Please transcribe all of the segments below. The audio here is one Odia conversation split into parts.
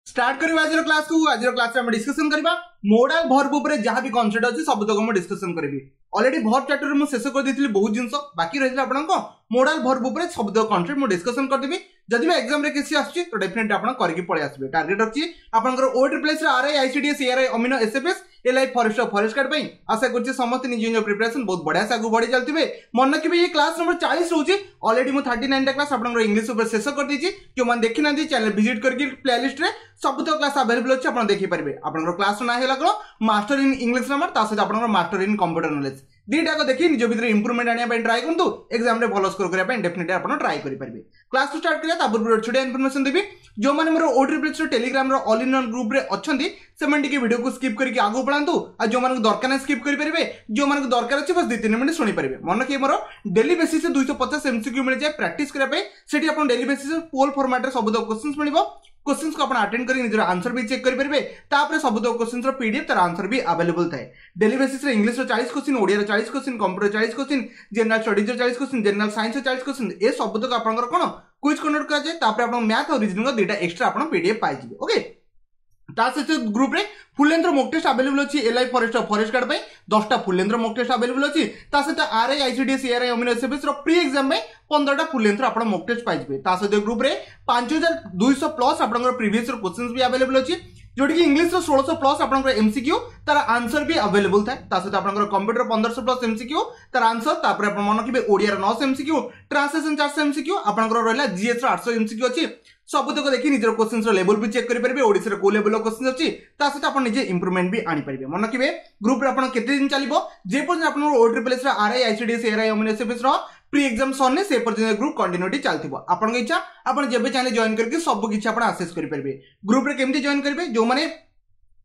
ଷ୍ଟାର୍ଟ କରିବା ଆଜିର କ୍ଲାସକୁ। ଆଜିର କ୍ଲାସରେ ଆମେ ଡିସ୍କସନ କରିବା ମୋଡାଲ ଭର୍ବ ଉପରେ। ଯାହା ବି କନସେପ୍ଟ ଅଛି, ସବୁତକ ମୁଁ ଡିସ୍କସନ କରିବି। ଅଲରେଡି ଭର୍ବ ଚାପ୍ଟରରେ ମୁଁ ଶେଷ କରିଦେଇଥିଲି, ବହୁତ ଜିନିଷ ବାକି ରହିଥିଲା। ଆପଣଙ୍କ ମୋଡାଲ ଭର୍ବ ଉପରେ ସବୁତକ କନସେପ୍ଟ ମୁଁ ଡିସ୍କସନ କରିଦେବି। ଯଦି ବି ଏକ୍ସାମରେ କିଛି ଆସୁଛି, ତ ଡେଫିନେଟଲି ଆପଣ କରିକି ପଳେଇ ଆସିବେ। ଟାର୍ଗେଟ ଅଛି ଆପଣଙ୍କର O triple S, R I, ICDS, ARI, ଅମିନ, SFS, LI, forest, forest guard ପାଇଁ। ଆଶା କରୁଛି ସମସ୍ତେ ନିଜ ନିଜ ପ୍ରିପାରେସନ ବହୁତ ବଢିଆ ସେ ଆଗକୁ ବଢି ଚାଲିଥିବେ। ମନେ ରଖିବେ, ଇଏ କ୍ଲାସ ନମ୍ବର 40 ରହୁଛି। ଅଲରେଡି ମୁଁ 39ଟା କ୍ଲାସ ଆପଣଙ୍କର ଇଂଲିଶ ଉପରେ ଶେଷ କରିଦେଇଛି। ଯେଉଁମାନେ ଦେଖିନାହାନ୍ତି, ଚ୍ୟାନେଲ ଭିଜିଟ୍ କରିକି ପ୍ଲେଲିଷ୍ଟରେ ସବୁତକ କ୍ଲାସ ଆଭେଲେବଲ ଅଛି, ଆପଣ ଦେଖିପାରିବେ। ଆପଣଙ୍କର କ୍ଲାସ ନାଁ ହେଲା କ'ଣ? ମାଷ୍ଟର ଇନ୍ ଇଂଲିଶ ଗ୍ରାମର, ତା ସହିତ ଆପଣଙ୍କର ମାଷ୍ଟର ଇନ୍ କମ୍ପ୍ୟୁଟର ନଲେଜ। ଦୁଇଟାକ ଦେଖି ନିଜ ଭିତରେ ଇମ୍ପ୍ରୁଭମେଣ୍ଟ ଆଣିବା ପାଇଁ ଟ୍ରାଏ କରନ୍ତୁ। ଏକ୍ସାମରେ ଭଲ ସ୍କୋର କରିବା ପାଇଁ ଡେଫିନେଟଲି ଆପଣ ଟ୍ରାଏ କରିପାରିବେ। କ୍ଲାସକୁ ଷ୍ଟାର୍ଟ କରିବା, ତା ପୂର୍ବରୁ ଛୋଟିଆ ଇନଫର୍ମେସନ ଦେବି। ଯେଉଁମାନେ ମୋର ଓ ଟ୍ରିପଲ୍ ଏସ୍ ଟେଲିଗ୍ରାମର ଅଲ୍ ଇନ୍ ୱାନ୍ ଗ୍ରୁପରେ ଅଛନ୍ତି, ସେମାନେ ଟିକେ ଭିଡ଼ିଓକୁ ସ୍କିପ୍ କରିକି ଆଗକୁ ପଳାନ୍ତୁ। ଆଉ ଯେଉଁମାନଙ୍କୁ ଦରକାର ନାହିଁ, ସ୍କିପ୍ କରିପାରିବେ। ଯେଉଁମାନଙ୍କୁ ଦରକାର ଅଛି, ବାସ୍ 2-3 ମିନିଟ୍ ଶୁଣିପାରିବେ। ମନେ ରଖିବେ, ମୋର ଡେଲି ବେସିସ୍ 250 ଏମସିକ୍ୟୁ ମିଳିଯାଏ ପ୍ରାକ୍ଟିସ୍ କରିବା ପାଇଁ। ସେଠି ଆପଣ ଡେଲି ବେସିସ୍ ପୋଲ୍ ଫର୍ମାଟ୍ରେ ସବୁତକ କ୍ୱେଶ୍ଚନ୍ସ ମିଳିବ। କ୍ୱେଶ୍ଚନ୍ସକୁ ଆପଣ ଆଟେଣ୍ଡ କରି ନିଜର ଆନ୍ସର ବି ଚେକ୍ କରିପାରିବେ। ତାପରେ ସବୁତକ କ୍ୱେଶ୍ଚନ୍ସର ପିଡିଏଫ୍, ତାର ଆନ୍ସର ବି ଆଭେଲେବଲ୍ ଥାଏ। ଡେଲି ବେସିସ୍ରେ ଇଂଲିଶର 40 କ୍ୱେଶ୍ଚିନ୍, ଓଡ଼ିଆର 40 କ୍ୱେଶ୍ଚିନ୍, କମ୍ପ୍ୟୁଟର 40 କ୍ୱେଶ୍ଚିନ୍, ଜେନେରାଲ ଷ୍ଟଡିଜର 40 କ୍ୱେଶ୍ଚିନ୍, ଜେନେରାଲ ସାଇନ୍ସର 40 କ୍ୱେଶ୍ଚିନ୍, ଏ ସବୁତକ ଆପଣଙ୍କର କ'ଣ କୁଇଜ୍ କଣ୍ଡକ୍ଟ କରାଯାଏ। ତାପରେ ଆପଣ ମ୍ୟାଥ୍ ଆଉ ରିଜନିଂର ଦୁଇଟା ଏକ୍ସଟ୍ରା ଆପଣ ପିଡିଏଫ୍ ପାଇଯିବେ। ଓକେ, ତା ସହିତ ଗ୍ରୁପରେ ଫୁଲ୍ ଲେନ୍ଥର ମକ୍ ଟେଷ୍ଟ ଆଭେଲେବଲ୍ ଅଛି। ଏଲ୍ଆଇ, ଫରେଷ୍ଟ, ଫରେଷ୍ଟ ଗାର୍ଡ ପାଇଁ 10ଟା ଫୁଲ୍ ଲେନ୍ଥର ମକ୍ ଟେଷ୍ଟ ଆଭେଲେବଲ୍ ଅଛି। ତା ସହିତ ଆର୍ I, ICDS, ARI, ଅମିନ, ଏସ୍ଏଫ୍ଏସ୍ ର ପ୍ରି ଏକ୍ସାମ୍ ପାଇଁ 15ଟା ଫୁଲ୍ ଲେନ୍ଥର ଆପଣ ମକ୍ ଟେଷ୍ଟ ପାଇଯିବେ। ତା ସହିତ ଗ୍ରୁପରେ 5200 ପ୍ଲସ୍ ଆପଣଙ୍କର ପ୍ରିଭିୟସ୍ କ୍ୱେଶ୍ଚନ୍ସ ବି ଆଭେଲେବଲ୍ ଅଛି, ଯୋଉଠିକି ଇଂଲିଶର 1600 ପ୍ଲସ୍ ଆପଣଙ୍କର ଏମସିକ୍ୟୁ, ତାର ଆନ୍ସର ବି ଆଭେଲେବଲ୍ ଥାଏ। ତା ସହିତ ଆପଣଙ୍କର କମ୍ପ୍ୟୁଟର 1500 ପ୍ଲସ୍ ଏମସିକ୍ୟୁ, ତାର ଆନ୍ସର। ତାପରେ ଆପଣ ମନେ ରଖିବେ, ଓଡ଼ିଆର 900 ଏମସିକ୍ୟୁ, ଟ୍ରାନ୍ସଲେସନ 400 ଏମସିକ୍ୟୁ, ଆପଣଙ୍କର ରହିଲା ଜିଏସ୍ ର 800 ଏମସିକ୍ୟୁ ଅଛି। ସବୁତକ ଦେଖି ନିଜର କ୍ୱେଶ୍ଚନ୍ସର ଲେଭେଲ ବି ଚେକ୍ କରିପାରିବେ, ଓଡ଼ିଶାର କୋଉ ଲେଭେଲର କ୍ୱେଶ୍ଚନ୍ ଅଛି। ତା ସହିତ ଆପଣ ନିଜେ ଇମ୍ପ୍ରୁଭମେଣ୍ଟ ବି ଆଣିପାରିବେ। ମନେ ରଖିବେ, ଗ୍ରୁପରେ ଆପଣ କେତେ ଦିନ ଚାଲିବ? ଯେ ପର୍ଯ୍ୟନ୍ତ ଆପଣଙ୍କର O triple S, R I, ICDS, ARI, ଅମିନ, ଏସ୍ଏଫ୍ଏସ୍ ର ପ୍ରି ଏକ୍ସାମ୍ ସରିନି, ସେ ପର୍ଯ୍ୟନ୍ତ ଗ୍ରୁପ୍ କଣ୍ଟିନ୍ୟୁଟି ଚାଲିଥିବ। ଆପଣଙ୍କ ଇଚ୍ଛା, ଆପଣ ଯେବେ ଚାହିଁଲେ ଜଏନ୍ କରିକି ସବୁ କିଛି ଆପଣ ଆକ୍ସେସ୍ କରିପାରିବେ। ଗ୍ରୁପରେ କେମିତି ଜଏନ୍ କରିବେ? ଯେଉଁମାନେ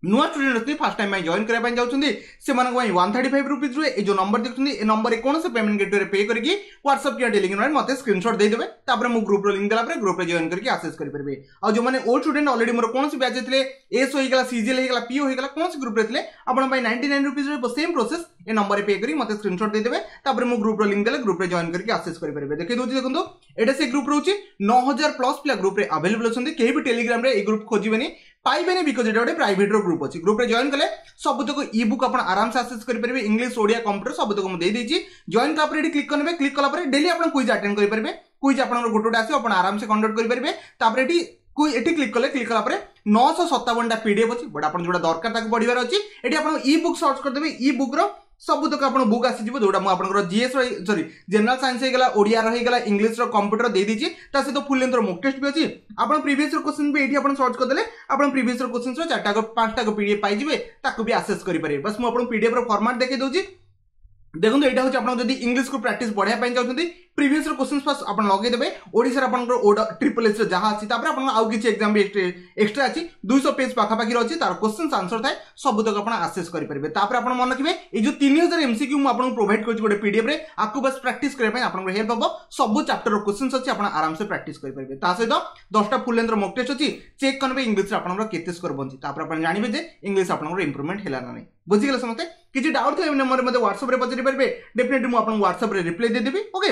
ନୂଆ ଷ୍ଟୁଡେଣ୍ଟ ଅଛନ୍ତି, ଫାର୍ଷ୍ଟ ଟାଇମ୍ ପାଇଁ ଜଏନ୍ କରିବା ପାଇଁ ଯାଉଛନ୍ତି, ସେମାନଙ୍କ ପାଇଁ 135 ରୁପିଜ୍ ରୁହେ। ଏ ଯେଉଁ ନମ୍ବର ଦେଖୁଛନ୍ତି, ଏ ନମ୍ବରରେ କୌଣସି ପେମେଣ୍ଟ ଗେଟୱେରେ ପେ କରିକି ହ୍ୱାଟ୍ସଆପ୍ କିମ୍ବା ଟେଲିଗ୍ରାମରେ ମୋତେ ସ୍କ୍ରିନଶଟ୍ ଦେଇଦେବେ। ତାପରେ ମୁଁ ଗ୍ରୁପ୍ର ଲିଙ୍କ୍ ଦେଲା ପରେ ଗ୍ରୁପ୍ରେ ଜଏନ୍ କରିକି ଆକ୍ସେସ୍ କରିପାରିବେ। ଆଉ ଯେଉଁମାନେ ଓଲ୍ଡ ଷ୍ଟୁଡେଣ୍ଟ, ଅଲରେଡି ମୋର କୌଣସି ବ୍ୟାଚ୍ ଥିଲେ, ଏସ୍ ହୋଇଗଲା, ସିଜିଏଲ୍ ହେଇଗଲା, ପିଓ ହେଇଗଲା, କୌଣସି ଗ୍ରୁପ୍ରେ ଥିଲେ, ଆପଣଙ୍କ ପାଇଁ 99 ରୁପିଜ୍ ରହିବ। ସେମ୍ ପ୍ରୋସେସ୍, ଏ ନମ୍ବରରେ ପେ କରି ମୋତେ ସ୍କ୍ରିନଶଟ୍ ଦେଇଦେବେ। ତାପରେ ମୁଁ ଗ୍ରୁପ୍ର ଲିଙ୍କ୍ ଦେଲେ ଗ୍ରୁପ୍ରେ ଜଏନ୍ କରିକି ଆକ୍ସେସ୍ କରିପାରିବେ। ଦେଖେଇ ଦେଉଛି, ଦେଖନ୍ତୁ, ଏଇଟା ସେ ଗ୍ରୁପ୍ ରହୁଛି। 9000 ପ୍ଲସ୍ ପିଲା ଗ୍ରୁପ୍ରେ ଆଭେଲେବଲ୍ ଅଛନ୍ତି। କେହି ବି ଟେଲିଗ୍ରାମରେ ଏଇ ଗ୍ରୁପ୍ ଖୋଜିବେନି, ପାଇବେନି, because ଏଇଟା ଗୋଟେ ପ୍ରାଇଭେଟର ଗ୍ରୁପ୍ ଅଛି। ଗ୍ରୁପ୍ରେ ଜଏନ୍ କଲେ ସବୁତକ ଇ ବୁକ୍ ଆପଣ ଆରାମସେ ଆକ୍ସେସ୍ କରିପାରିବେ। ଇଂଲିଶ, ଓଡ଼ିଆ, କମ୍ପ୍ୟୁଟର ସବୁତକ ମୁଁ ଦେଇଦେଇଛି। ଜଏନ୍ କଲା ପରେ ଏଠି କ୍ଲିକ୍ କରିନେବେ। କ୍ଲିକ୍ କଲା ପରେ ଡେଲି ଆପଣ କୁଇଜ୍ ଆଟେଣ୍ଡ କରିପାରିବେ। କୁଇଜ୍ ଆପଣଙ୍କର ଗୋଟେ ଗୋଟେ ଆସିବ, ଆପଣ ଆରାମସେ କଣ୍ଡକ୍ଟ କରିପାରିବେ। ତାପରେ ଏଠି କ୍ଲିକ୍ କଲେ, କ୍ଲିକ୍ କଲା ପରେ 957ଟା ପିଡିଏଫ୍ ଅଛି, ବଟ୍ ଆପଣ ଯୋଉଟା ଦରକାର ତାକୁ ପଢିବାର ଅଛି। ଏଠି ଆପଣ ଇ ବୁକ୍ ସର୍ଚ୍ଚ କରିଦେବେ, ଇ ବୁକ୍ର ସବୁତକ ଆପଣ ବୁକ୍ ଆସିଯିବ, ଯୋଉଟା ମୁଁ ଆପଣଙ୍କର ଜିଏସ୍, ସରି, ଜେନେରାଲ ସାଇନ୍ସ ହେଇଗଲା, ଓଡ଼ିଆର ହେଇଗଲା, ଇଂଲିଶର, କମ୍ପ୍ୟୁଟର ଦେଇଦେଇଛି। ତା ସହିତ ଫୁଲ୍ ଲେନ୍ଥର ମକ୍ ଟେଷ୍ଟ ବି ଅଛି। ଆପଣ ପ୍ରିଭିୟସ୍ କ୍ୱେଶ୍ଚନ୍ ବି ଏଇଠି ଆପଣ ସର୍ଚ୍ଚ କରିଦେଲେ ଆପଣ ପ୍ରିଭିୟସ୍ କ୍ୱେଶ୍ଚନ୍ସର ଚାରିଟା ପାଞ୍ଚଟା ପିଡିଏଫ୍ ପାଇଯିବେ, ତାକୁ ବି ଆକ୍ସେସ୍ କରିପାରିବେ। ବାସ୍, ମୁଁ ଆପଣଙ୍କୁ ପିଡିଏଫ୍ ର ଫର୍ମାଟ୍ ଦେଖେଇ ଦେଉଛି। ଦେଖନ୍ତୁ, ଏଇଟା ହେଉଛି ଆପଣ ଯଦି ଇଂଲିଶକୁ ପ୍ରାକ୍ଟିସ୍ ବଢ଼ାଇବା ପାଇଁ ଚାହୁଁଛନ୍ତି, ପ୍ରିଭିୟସ୍ କ୍ୱେଶ୍ଚନ୍ସ ଫାର୍ଷ୍ଟ ଆପଣ ଲଗେଇଦେବେ। ଓଡ଼ିଶାର ଆପଣଙ୍କର ଓ ଟ୍ରିପଲ୍ ଏସ୍ ଯାହା ଅଛି, ତାପରେ ଆପଣଙ୍କର ଆଉ କିଛି ଏକ୍ସାମ୍ ବି ଏକ୍ସଟ୍ରା ଅଛି। 200 ପେଜ୍ ପାଖାପାଖି ଅଛି, ତାର କ୍ୱେଶ୍ଚନ୍ସ ଆନ୍ସର ଥାଏ, ସବୁତକ ଆପଣ ଆକ୍ସେସ୍ କରିପାରିବେ। ତାପରେ ଆପଣ ମନେ ରଖିବେ, ଏଇ ଯେଉଁ 3000 ଏମସିକ୍ୟୁ ମୁଁ ଆପଣଙ୍କୁ ପ୍ରୋଭାଇଡ୍ କରୁଛି ଗୋଟେ ପିଡିଏଫ୍ ରେ, ଆକୁ ବାସ୍ ପ୍ରାକ୍ଟିସ୍ କରିବା ପାଇଁ ଆପଣଙ୍କର ହେଲ୍ପ ହେବ। ସବୁ ଚାପ୍ଟର କ୍ୱେଶ୍ଚନ୍ସ ଅଛି, ଆପଣ ଆରାମସେ ପ୍ରାକ୍ଟିସ୍ କରିପାରିବେ। ତା ସହିତ 10ଟା ଫୁଲ୍ ଲେନ୍ଥର ମକ୍ ଟେଷ୍ଟ ଅଛି। ଚେକ୍ କରିବେ ଇଂଲିଶରେ ଆପଣଙ୍କର କେତେ ସ୍କୋର ବଞ୍ଚି। ତାପରେ ଆପଣ ଜାଣିବେ ଯେ ଇଂଲିଶ ଆପଣଙ୍କର ଇମ୍ପ୍ରୁଭମେଣ୍ଟ ହେଲା ନା ନାହିଁ। ବୁଝିଗଲେ ସମସ୍ତେ? କିଛି ଡାଉଟ୍ ଥିଲେ ନମ୍ବରରେ ମୋତେ ହ୍ୱାଟ୍ସଆପ୍ରେ ପଚାରି ପାରିବେ। ଡେଫିନେଟଲି ମୁଁ ଆପଣଙ୍କୁ ହ୍ୱାଟ୍ସଆପ୍ରେ ରିପ୍ଲାଏ ଦେଇଦେବି। ଓକେ,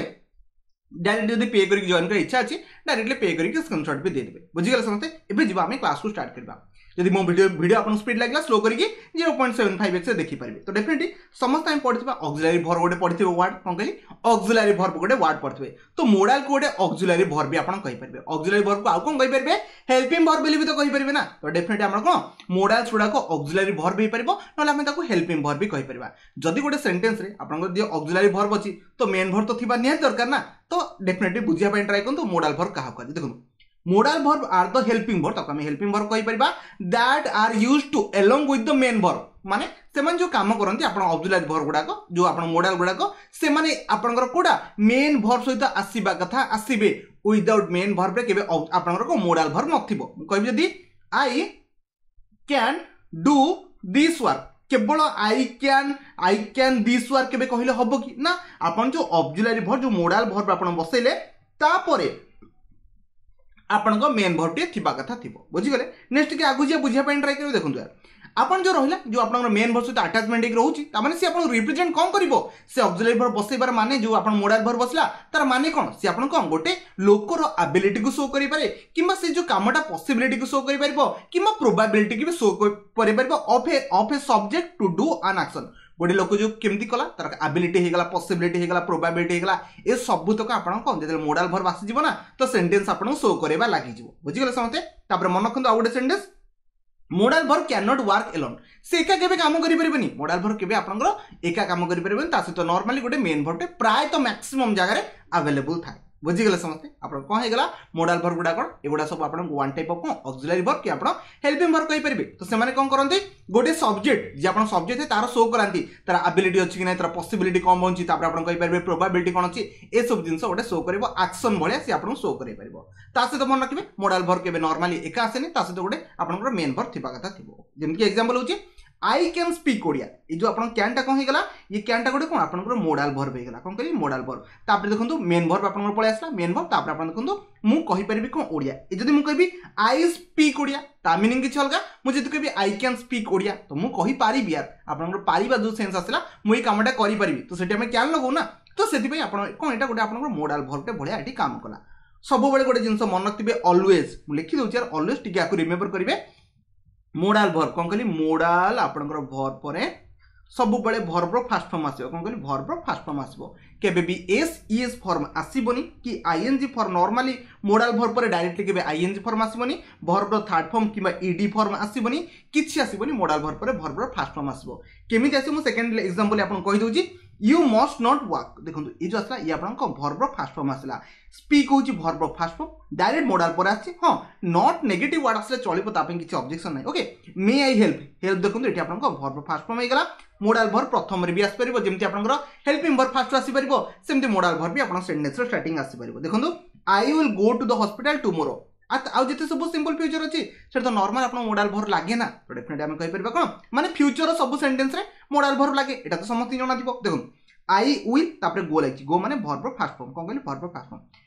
ଡାଇରେକ୍ଟ ଯଦି ପେ କରିକି ଜଏନ୍ କରିବା ଇଚ୍ଛା ଅଛି, ଡାଇରେକ୍ଟଲି ପେ କରିକି ସ୍କ୍ରିନଶଟ୍ ବି ଦେଇଦେବେ। ବୁଝିଗଲେ ସମସ୍ତେ? ଏବେ ଯିବା, ଆମେ କ୍ଲାସକୁ ଷ୍ଟାର୍ଟ କରିବା। ଯଦି ମୋ ଭିଡ଼ିଓ ଆପଣଙ୍କୁ ସ୍ପିଡ୍ ଲାଗିଲା, ସ୍ଲୋ କରିକି 0.75 ଏକ୍ସରେ ଦେଖିପାରିବେ। ତ ଡେଫିନେଟଲି ସମସ୍ତେ ଆମେ ପଢ଼ିଥିବା ଅକ୍ସିଲାରୀ ଭର୍ବ ଗୋଟେ ପଢ଼ିଥିବେ ୱାର୍ଡ। କ'ଣ କହିଲି? ଅକ୍ସିଲାରୀ ଭର୍ବ ଗୋଟେ ୱାର୍ଡ ପଢ଼ିଥିବେ। ତ ମୋଡାଲକୁ ଗୋଟେ ଅକ୍ସିଲାରୀ ଭର୍ବ ବି ଆପଣ କହିପାରିବେ। ଅକ୍ସିଲାରୀ ଭର୍ବକୁ ଆଉ କ'ଣ କହିପାରିବେ? ହେଲ୍ପିଂ ଭର୍ବ ବୋଲି ବି ତ କହିପାରିବେ ନା? ତ ଡେଫିନେଟଲି ଆମର କ'ଣ ମୋଡାଲ୍ସ ଗୁଡ଼ାକ ଅକ୍ସିଲାରୀ ଭର୍ବ ହେଇପାରିବ, ନହେଲେ ଆମେ ତାକୁ ହେଲ୍ପିଂ ଭର୍ବ ବି କହିପାରିବା। ଯଦି ଗୋଟେ ସେଣ୍ଟେନ୍ସରେ ଆପଣଙ୍କର ଯଦି ଅକ୍ସିଲାରୀ ଭର୍ବ ଅଛି, ତ ମେନ୍ ଭର୍ବ ତ ଥିବା ନିହାତି ଦରକାର ନା? ତ ଡେଫିନେଟଲି ବୁଝିବା ପାଇଁ ଟ୍ରାଏ କରନ୍ତୁ, ମୋଡାଲ ଭର୍ବ କାହାକୁ କୁହାଯାଏ। ଦେଖନ୍ତୁ, modal verb are the helping verb, ତାକୁ ଆମେ ହେଲ୍ପିଂ ଭର୍ବ କହିପାରିବା, that are used to along with the main verb। ମାନେ ସେମାନେ ଯେଉଁ କାମ କରନ୍ତି, ଆପଣ ଅକ୍ସିଲାରୀ ଭର୍ବ ଗୁଡ଼ାକ, ଯେଉଁ ଆପଣ ମୋଡାଲ ଗୁଡ଼ାକ, ସେମାନେ ଆପଣଙ୍କର କୋଉଟା ମେନ୍ ଭର୍ବ ସହିତ ଆସିବା କଥା ଆସିବେ। ୱିଦାଉଟ୍ ମେନ୍ ଭର୍ବରେ କେବେ ଆପଣଙ୍କର ମୋଡାଲ ଭର୍ବ ନଥିବ। ମୁଁ କହିବି ଯଦି "I can do this work", କେବଳ "I can this work" କେବେ କହିଲେ ହବ କି ନା? ଆପଣ ଯେଉଁ ଅକ୍ସିଲାରୀ ଭର୍ବ, ଯେଉଁ ମୋଡାଲ ଭର୍ବ ଆପଣ ବସେଇଲେ, ତାପରେ ଆପଣଙ୍କ ମେନ୍ ଭର୍ବଟିଏ ଥିବା କଥା ଥିବ। ବୁଝିଗଲେ? ନେକ୍ସଟ ଟିକେ ଆଗକୁ ଯିବା, ବୁଝିବା ପାଇଁ ଟ୍ରାଏ କରିବେ। ଦେଖନ୍ତୁ, ଆପଣ ଯେଉଁ ରହିଲା ଯେଉଁ ଆପଣଙ୍କର ମେନ୍ ଭର୍ବ ସହିତ ଆଟାଚମେଣ୍ଟ ହେଇକି ରହୁଛି, ତାମାନେ ସେ ଆପଣଙ୍କୁ ରିପ୍ରେଜେଣ୍ଟ କ'ଣ କରିବ? ସେ ଅକ୍ସିଲାରୀ ଭର୍ବ ବସେଇବାର ମାନେ, ଯେଉଁ ଆପଣ ମୋଡାଲ ଭର୍ବ ବସିଲା ତାର ମାନେ କ'ଣ? ସେ ଆପଣ କ'ଣ ଗୋଟେ ଲୋକର ଆବିଲିଟିକୁ ଶୋ କରିପାରେ, କିମ୍ବା ସେ ଯେଉଁ କାମଟା ପସିବିଲିଟିକୁ ଶୋ କରିପାରିବ, କିମ୍ବା ପ୍ରୋବାବିଲିଟିକୁ ବି ଶୋ କରିପାରିବ of a subject to do an action. ଗୋଟେ ଲୋକ ଯେଉଁ କେମିତି କଲା, ତାର ଆବିଲିଟି ହେଇଗଲା, ପସିବିଲିଟି ହେଇଗଲା, ପ୍ରୋବାବିଲିଟି ହେଇଗଲା, ଏ ସବୁତକ ଆପଣ କ'ଣ ଯେତେବେଳେ ମୋଡାଲ ଭର୍ବ ଆସିଯିବ ନା, ତ ସେଣ୍ଟେନ୍ସ ଆପଣଙ୍କୁ ଶୋ କରିବା ଲାଗିଯିବ। ବୁଝିଗଲେ ସମସ୍ତେ? ତାପରେ ମନେ ରଖନ୍ତୁ ଆଉ ଗୋଟେ sentence, modal verb can not work alone. ସେ ଏକା କେବେ କାମ କରିପାରିବେନି। ମୋଡାଲ ଭର୍ବ କେବେ ଆପଣଙ୍କର ଏକା କାମ କରିପାରିବେନି, ତା ସହିତ ନର୍ମାଲି ଗୋଟେ ମେନ୍ ଭର୍ବଟେ ପ୍ରାୟତଃ ମ୍ୟାକ୍ସିମମ୍ ଜାଗାରେ ଆଭେଲେବୁଲ୍ ଥାଏ। ବୁଝିଗଲେ ସମସ୍ତେ? ଆପଣ କ'ଣ ହେଇଗଲା? ମୋଡାଲ ଭର୍ବ ଗୁଡ଼ା କ'ଣ? ଏଗୁଡ଼ା ସବୁ ଆପଣଙ୍କୁ ୱାନ୍ ଟାଇପ୍ ଅଫ୍ କ'ଣ ଅକ୍ସିଲାରୀ ଭର୍ବ କି ଆପଣ ହେଲ୍ପିଂ ଭର୍ବ କହିପାରିବେ। ତ ସେମାନେ କ'ଣ କରନ୍ତି? ଗୋଟେ ସବଜେକ୍ଟ, ଯେ ଆପଣ ସବଜେକ୍ଟ ତାର ଶୋ କରାନ୍ତି, ତାର ଆବିଲିଟି ଅଛି କି ନାହିଁ, ତାର ପସିବିଲିଟି କ'ଣ ବଞ୍ଚି, ତାପରେ ଆପଣ କହିପାରିବେ ପ୍ରୋବାବିଲିଟି କ'ଣ ଅଛି, ଏସବୁ ଜିନିଷ ଗୋଟେ ଶୋ କରିବ, ଆକ୍ସନ୍ ଭଳିଆ ସେ ଆପଣଙ୍କୁ ଶୋ କରିପାରିବ। ତା ସହିତ ମନେ ରଖିବେ, ମୋଡାଲ ଭର୍ବ କେବେ ନର୍ମାଲି ଏକା ଆସେନି, ତା ସହିତ ଗୋଟେ ଆପଣଙ୍କର ମେନ୍ ଭର୍ବ ଥିବା କଥା ଥିବ। ଯେମିତିକି ଏକ୍ସାମ୍ପଲ୍ ହେଉଛି I can speak Odia. ଏଇ ଯେ ଆପଣଙ୍କର କ୍ୟାନ୍ଟା କ'ଣ ହେଇଗଲା? ଇଏ କ୍ୟାନ୍ଟା ଗୋଟେ କ'ଣ ଆପଣଙ୍କର ମୋଡାଲ ଭର୍ବ ହେଇଗଲା। କ'ଣ କହିଲି? Modal verb. ତାପରେ ଦେଖନ୍ତୁ ମେନ୍ ଭର୍ବ ଆପଣଙ୍କର ପଳେଇ ଆସିଲା, ମେନ୍ ଭର୍ବ। ତାପରେ ଆପଣ ଦେଖନ୍ତୁ ମୁଁ କହିପାରିବି କ'ଣ ଓଡ଼ିଆ। ଏ ଯଦି ମୁଁ କହିବି I speak Odia, ତା ମିନିଂ କିଛି ଅଲଗା। ମୁଁ ଯଦି କହିବି I can speak Odia, ତ ମୁଁ କହିପାରିବି ୟାର, ଆପଣଙ୍କର ପାରିବା ଯେଉଁ ସେନ୍ସ ଆସିଲା, ମୁଁ ଏଇ କାମଟା କରିପାରିବି, ତ ସେଠି ଆମେ can ଲଗାଉ ନା। ତ ସେଥିପାଇଁ ଆପଣ କ'ଣ ଏଇଟା ଗୋଟେ ଆପଣଙ୍କର ମୋଡାଲ ଭର୍ବଟେ ଭଳିଆ ଏଠି କାମ କଲା। ସବୁବେଳେ ଗୋଟେ ଜିନିଷ ମନେ ରଖିଥିବେ, ଅଲୱେଜ୍ ମୁଁ ଲେଖିଦେଉଛି ୟାର, ଅଲୱେଜ୍ ଟିକେ ଆକୁ ରିମେମ୍ବର କରିବେ। ମୋଡାଲ ଭର୍ବ କ'ଣ କହିଲି? ମୋଡାଲ ଆପଣଙ୍କର ଭର୍ବ ପରେ ସବୁବେଳେ ଭର୍ବର ଫାଷ୍ଟ ଫର୍ମ ଆସିବ। କ'ଣ କହିଲି? ଭର୍ବର ଫାଷ୍ଟ ଫର୍ମ ଆସିବ, କେବେ ବି ଏସ୍ ଇଏସ୍ ଫର୍ମ ଆସିବନି କି ING form. Normally modal verb ପରେ ଡାଇରେକ୍ଟଲି କେବେ ଆଇଏନଜି ଫର୍ମ ଆସିବନି, ଭର୍ବର ଥାର୍ଡ ଫର୍ମ କିମ୍ବା ଇଡି ଫର୍ମ ଆସିବନି, କିଛି ଆସିବନି। ମୋଡାଲ ଭର୍ବ ପରେ ଭର୍ବର ଫାଷ୍ଟ ଫର୍ମ ଆସିବ। କେମିତି ଆସିବ ମୁଁ ସେକେଣ୍ଡ ଏକ୍ସାମ୍ପଲ୍ ଆପଣଙ୍କୁ କହିଦେଉଛି। You must not walk. ଦେଖନ୍ତୁ ଏଇ ଯେଉଁ ଆସିଲା, ଇଏ ଆପଣଙ୍କ ଭର୍ବର ଫାଷ୍ଟ ଫର୍ମ ଆସିଲା। ସ୍ପିକ୍ ହେଉଛି ଭର୍ବର ଫାଷ୍ଟ ଫର୍ମ, ଡାଇରେକ୍ଟ ମୋଡାଲ ପରେ ଆସିଛି। ହଁ, not negative ward ଆସିଲେ ଚଳିବ, ତା ପାଇଁ କିଛି ଅବଜେକ୍ସନ୍ ନାହିଁ। Okay, may I help. Help ଦେଖନ୍ତୁ ଏଠି ଆପଣଙ୍କ ଭର୍ବର ଫାଷ୍ଟ ଫର୍ମ ହେଇଗଲା। ମୋଡାଲ ଭର୍ବ ପ୍ରଥମରେ ବି ଆସିପାରିବ, ଯେମିତି ଆପଣଙ୍କର ହେଲ୍ପିଂ ଭର୍ବ ଫାଷ୍ଟ ଆସିପାରିବ, ସେମିତି ମୋଡାଲ ଭର୍ବ ବି ଆପଣଙ୍କ ସେଣ୍ଟେନ୍ସର ଷ୍ଟାର୍ଟିଂ ଆସିପାରିବ। ଦେଖନ୍ତୁ I will go to the hospital tomorrow. ଆଉ ଯେତେ ସବୁ ସିମ୍ପଲ୍ ଫ୍ୟୁଚର ଅଛି ସେଟା ତ ନର୍ମାଲ ଆପଣଙ୍କ ମୋଡାଲ ଭର୍ବ ଲାଗେ ନା, ତ ଡେଫିନେଟଲି ଆମେ କହିପାରିବା କ'ଣ ମାନେ ଫ୍ୟୁଚର ସବୁ ସେଣ୍ଟେନ୍ସରେ ମୋଡାଲ ଭର୍ବ ଲାଗେ, ଏଇଟା ତ ସମସ୍ତଙ୍କୁ ଜଣାଥିବ। ଦେଖନ୍ତୁ I will, ତାପରେ ଗୋ ଲାଗିଛି, ଗୋ ମାନେ ଭର୍ବର ଫାଷ୍ଟ ଫର୍ମ। କ'ଣ କହିଲି? ଭର୍ବର ଫାଷ୍ଟ ଫର୍ମ।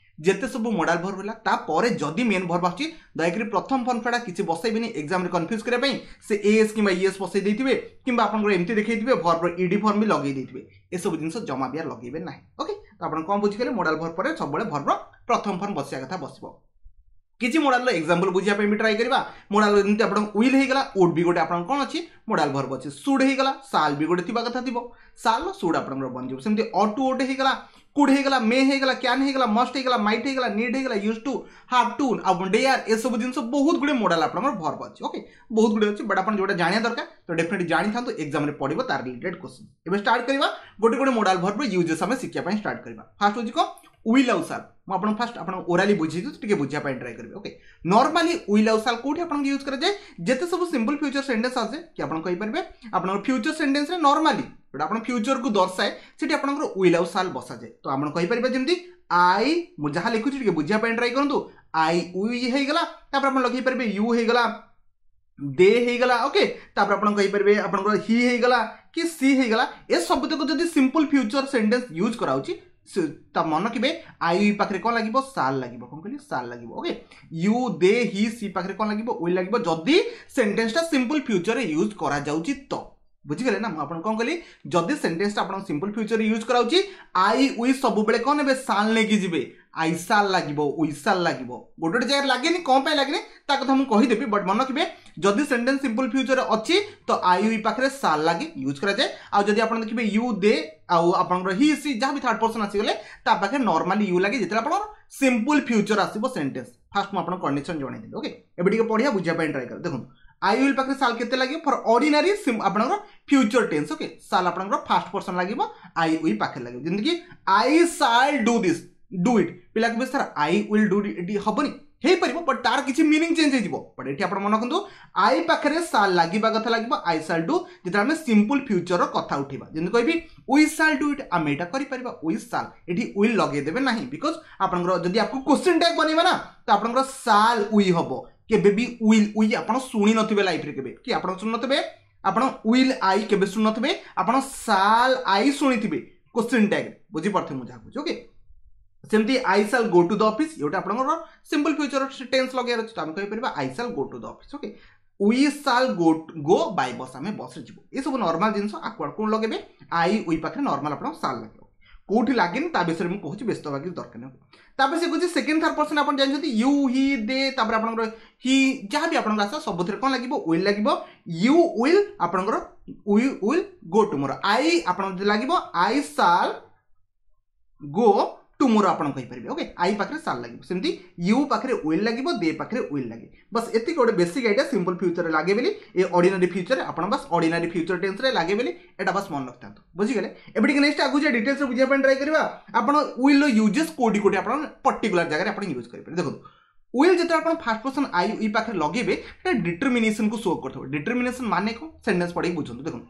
ଯେତେ ସବୁ ମୋଡାଲ ଭର୍ବ ହେଲା, ତାପରେ ଯଦି ମେନ୍ ଭର୍ବ ଆସୁଛି, ଦୟାକରି ପ୍ରଥମ ଫର୍ମ ଛଡ଼ା କିଛି ବସେଇବେନି। ଏକ୍ଜାମରେ କନଫ୍ୟୁଜ୍ କରିବା ପାଇଁ ସେ ଏସ୍ କିମ୍ବା ଇଏସ୍ ବସେଇ ଦେଇଥିବେ, କିମ୍ବା ଆପଣଙ୍କର ଏମିତି ଦେଖେଇଥିବେ, ଭର୍ବର ଇଡି ଫର୍ମ ବି ଲଗେଇ ଦେଇଥିବେ। ଏସବୁ ଜିନିଷ ଜମା ବି ଲଗେଇବେ ନାହିଁ। ଓକେ, ତ ଆପଣ କ'ଣ ବୁଝିଗଲେ? ମୋଡାଲ ଭର୍ବ ପରେ ସବୁବେଳେ ଭର୍ବର ପ୍ରଥମ ଫର୍ମ ବସିବା କଥା ବସିବ। କିଛି ମୋଡାଲର ଏକ୍ସାମ୍ପଲ୍ ବୁଝିବା ପାଇଁ ବି ଟ୍ରାଏ କରିବା। ମୋଡାଲ ଯେମିତି ଆପଣଙ୍କ will ହେଇଗଲା, ଉଡ୍ ବି ଗୋଟେ ଆପଣଙ୍କ କ'ଣ ଅଛି? ମୋଡାଲ ଭର୍ବ ଅଛି। Should ହେଇଗଲା, ସାଲ୍ ବି ଗୋଟେ ଥିବା କଥା ଥିବ, ସାଲ୍ should ଆପଣଙ୍କର ବନିଯିବ। ସେମିତି ଅଟ୍ ଟୁ ଗୋଟେ ହେଇଗଲା, could ହେଇଗଲା, ମେ ହେଇଗଲା, can ହେଇଗଲା, ମଷ୍ଟ ହେଇଗଲା, ମାଇଟ୍ ହେଇଗଲା, ନିଡ୍ ହେଇଗଲା, ୟୁଜ୍ ଟୁ, have two, ଆଉ ଡେୟାର, ଏସବୁ ଜିନିଷ ବହୁତ ଗୁଡ଼ିଏ ମୋଡାଲ ଆପଣଙ୍କର ଭର୍ବ ଅଛି। ଓକେ, ବହୁତ ଗୁଡ଼ିଏ ଅଛି, ବଟ୍ ଆପଣ ଯେଉଁଟା ଜାଣିବା ଦରକାର ତ ଡେଫିନେଟଲି ଜାଣିଥାନ୍ତୁ, ଏକ୍ସାମରେ ପଡ଼ିବ ତାର ରିଲେଟେଡ୍ କ୍ୱେଶ୍ଚନ୍। ଏବେ ଷ୍ଟାର୍ଟ କରିବା ଗୋଟେ ଗୋଟେ ମୋଡାଲ ଭର୍ବର ୟୁଜେସ୍ ଆମେ ଶିଖିବା ପାଇଁ ଷ୍ଟାର୍ଟ କରିବା। ଫାଷ୍ଟ ହେଉଛି କ'ଣ? Will ଆଉ ସାଲ୍। ମୁଁ ଆପଣଙ୍କୁ ଫାଷ୍ଟ ଆପଣ ଓରାଲି ବୁଝେଇ ଦେଉଛି, ଟିକେ ବୁଝିବା ପାଇଁ ଟ୍ରାଏ କରିବେ। ଓକେ, ନର୍ମାଲି will ଆଉ ସାଲ୍ କୋଉଠି ଆପଣଙ୍କୁ ୟୁଜ୍ କରାଯାଏ? ଯେତେ ସବୁ ସିମ୍ପଲ୍ ଫ୍ୟୁଚର ସେଣ୍ଟେନ୍ସ ଆସେ କି ଆପଣ କହିପାରିବେ ଆପଣଙ୍କର ଫ୍ୟୁଚର ସେଣ୍ଟେନ୍ସରେ ନର୍ମାଲି ଯେଉଁଟା ଆପଣ ଫ୍ୟୁଚରକୁ ଦର୍ଶାଏ, ସେଠି ଆପଣଙ୍କର will ଆଉ ସାଲ୍ ବସାଯାଏ। ତ ଆପଣ କହିପାରିବେ ଯେମିତି I, ମୁଁ ଯାହା ଲେଖୁଛି ଟିକେ ବୁଝିବା ପାଇଁ ଟ୍ରାଏ କରନ୍ତୁ। I we ହେଇଗଲା, ତାପରେ ଆପଣ ଲଗେଇ ପାରିବେ you ହେଇଗଲା, ଦେ ହେଇଗଲା। ଓକେ, ତାପରେ ଆପଣ କହିପାରିବେ ଆପଣଙ୍କର ହି ହେଇଗଲା କି ସି ହେଇଗଲା। ଏ ସବୁତକ ଯଦି ସିମ୍ପଲ୍ ଫ୍ୟୁଚର ସେଣ୍ଟେନ୍ସ ୟୁଜ୍ କରାଉଛି, ତା ମନେ ରଖିବେ I we ପାଖରେ କ'ଣ ଲାଗିବ? ସାଲ୍ ଲାଗିବ। କ'ଣ କହିଲି? ସାଲ୍ ଲାଗିବ। Okay, you they he she ପାଖରେ କ'ଣ ଲାଗିବ? Will ଲାଗିବ, ଯଦି ସେଣ୍ଟେନ୍ସଟା ସିମ୍ପଲ୍ ଫ୍ୟୁଚରରେ ୟୁଜ୍ କରାଯାଉଛି। ତ ବୁଝିଗଲେ ନା ମୁଁ ଆପଣ କ'ଣ କହିଲି? ଯଦି ସେଣ୍ଟେନ୍ସଟା ଆପଣ ସିମ୍ପଲ୍ ଫ୍ୟୁଚରରେ ୟୁଜ୍ କରାଉଛି, I we ସବୁବେଳେ କ'ଣ ନେବେ? ସାଲ୍ ନେଇକି ଯିବେ। I ସାଲ୍ ଲାଗିବ, we ସାଲ୍ ଲାଗିବ। ଗୋଟେ ଗୋଟେ ଜାଗାରେ ଲାଗେନି, କ'ଣ ପାଇଁ ଲାଗେନି ତା କଥା ମୁଁ କହିଦେବି, ବଟ୍ ମନେ ରଖିବେ ଯଦି ସେଣ୍ଟେନ୍ସ ସିମ୍ପଲ୍ ଫ୍ୟୁଚରରେ ଅଛି ତ I we ପାଖରେ ସାଲ୍ ଲାଗି ୟୁଜ୍ କରାଯାଏ। ଆଉ ଯଦି ଆପଣ ଦେଖିବେ you ଦେ ଆଉ ଆପଣଙ୍କର ହି ସି ଯାହା ବି ଥାର୍ଡ ପର୍ସନ୍ ଆସିଗଲେ, ତା ପାଖରେ ନର୍ମାଲି you ଲାଗେ ଯେତେବେଳେ ଆପଣଙ୍କର ସିମ୍ପଲ୍ ଫ୍ୟୁଚର ଆସିବ ସେଣ୍ଟେନ୍ସ। ଫାଷ୍ଟ ମୁଁ ଆପଣଙ୍କ କଣ୍ଡିସନ୍ ଜଣେଇଦେଲି। ଓକେ, ଏବେ ଟିକେ ପଢ଼ିବା, ବୁଝିବା ପାଇଁ ଟ୍ରାଏ କର। ଦେଖନ୍ତୁ I will ପାଖରେ ସାଲ୍ କେତେ ଲାଗିବ ଫର୍ ଅର୍ଡିନାରୀ ଆପଣଙ୍କର ଫ୍ୟୁଚର ଟେନ୍ସ। ଓକେ, ସାଲ୍ ଆପଣଙ୍କର ଫାଷ୍ଟ ପର୍ସନ୍ ଲାଗିବ, I we ପାଖରେ ଲାଗିବ। ଯେମିତିକି I shall do this, do it. ପିଲା କହିବେ ସାର୍ I will do ଏଠି ହବନି? ହେଇପାରିବ, ବଟ୍ ତାର କିଛି ମିନିଂ ଚେଞ୍ଜ ହେଇଯିବ। ବଟ୍ ଏଠି ଆପଣ ମନେ ରଖନ୍ତୁ I ପାଖରେ ସାଲ୍ ଲାଗିବା କଥା ଲାଗିବ, I ସାଲ୍ do, ଯେତେବେଳେ ଆମେ ସିମ୍ପଲ୍ ଫ୍ୟୁଚରର କଥା ଉଠେଇବା। ଯେମିତି କହିବି we shall do it, ଆମେ ଏଇଟା କରିପାରିବା, we ସାଲ୍, ଏଠି will ଲଗେଇଦେବେ ନାହିଁ, because ଆପଣଙ୍କର ଯଦି ଆକୁ କ୍ୱେଶ୍ଚିନ୍ ଟ୍ୟାଗ୍ ବନେଇବା ନା, ତ ଆପଣଙ୍କର ସାଲ୍ we ହବ, କେବେ ବି will we ଆପଣ ଶୁଣି ନଥିବେ ଲାଇଫରେ କେବେ କି ଆପଣ ଶୁଣି ନଥିବେ, ଆପଣ will I କେବେ ଶୁଣି ନଥିବେ, ଆପଣ ସାଲ୍ I ଶୁଣିଥିବେ କ୍ୱେଶ୍ଚିନ୍ ଟ୍ୟାଗ୍ରେ। ବୁଝିପାରୁଥିବେ ମୁଁ ଯାହା କହୁଛି? ଓକେ, ସେମିତି I shall go to the office, ଏଇଟା ଆପଣଙ୍କର ସିମ୍ପଲ୍ ଫ୍ୟୁଚର ଟେନ୍ସ ଲଗେଇବାର ଅଛି, ତ ଆମେ କହିପାରିବା I shall go to the office. Okay, We shall go go by bus, ଆମେ ବସ୍ରେ ଯିବୁ। ଏସବୁ ନର୍ମାଲ ଜିନିଷ। ଆକୁ କ'ଣ ଲଗେଇବେ? I we ପାଖରେ ନର୍ମାଲ ଆପଣ ସାଲ୍ ଲାଗିବ। କୋଉଠି ଲାଗେନି ତା ବିଷୟରେ ମୁଁ କହୁଛି, ବ୍ୟସ୍ତ ହେବା କିଛି ଦରକାର ନାହିଁ। ତାପରେ ସେ କହୁଛି ସେକେଣ୍ଡ ଥାର୍ଡ ପର୍ସନ, ଆପଣ ଜାଣିଛନ୍ତି you, ହି, ଦେ, ତାପରେ ଆପଣଙ୍କର ହି, ଯାହା ବି ଆପଣଙ୍କର ଆସିବ ସବୁଥିରେ କ'ଣ ଲାଗିବ? Will ଲାଗିବ। You will ଆପଣଙ୍କର we will go tomorrow. I ଆପଣଙ୍କ ଯଦି ଲାଗିବ I shawl go tomorrow ଆପଣ କହିପାରିବେ। ଓକେ, I ପାଖରେ ସାଲ୍ ଲାଗିବ, ସେମିତି you ପାଖରେ will ଲାଗିବ, ଦେ ପାଖରେ will ଲାଗେ। ବାସ୍ ଏତିକି ଗୋଟେ ବେସିକ୍ ଆଇଡ଼ିଆ, ସିମ୍ପଲ୍ ଫ୍ୟୁଚରରେ ଲାଗେ ବୋଲି, ଏ ଅର୍ଡିନାରୀ ଫ୍ୟୁଚରରେ ଆପଣ ବାସ୍ ଅର୍ଡିନାରୀ ଫ୍ୟୁଚର ଟେନ୍ସରେ ଲାଗେ ବୋଲି ଏଇଟା ବାସ୍ ମନେ ରଖିଥାନ୍ତୁ। ବୁଝିଗଲେ? ଏବେ ଟିକେ ନେକ୍ସଟ ଆଗକୁ ଯେ ଡିଟେଲ୍ସରେ ବୁଝିବା ପାଇଁ ଟ୍ରାଏ କରିବା। ଆପଣ ୱିଲ୍ର ୟୁଜେସ୍ କୋଉଠି କୋଉଠି ଆପଣ ପର୍ଟିକୁଲାର ଜାଗାରେ ଆପଣ ୟୁଜ୍ କରିପାରିବେ। ଦେଖନ୍ତୁ, will ଯେତେବେଳେ ଆପଣ ଫାର୍ଷ୍ଟ ପର୍ସନ I we ପାଖରେ ଲଗେଇବେ, ସେଟା ଡିଟର୍ମିନେସନକୁ ଶୋ କରିଥିବ। ଡିଟର୍ମିନେସନ ମାନେ କ'ଣ? ସେଣ୍ଟେନ୍ସ ପଢ଼ିକି ବୁଝନ୍ତୁ। ଦେଖନ୍ତୁ,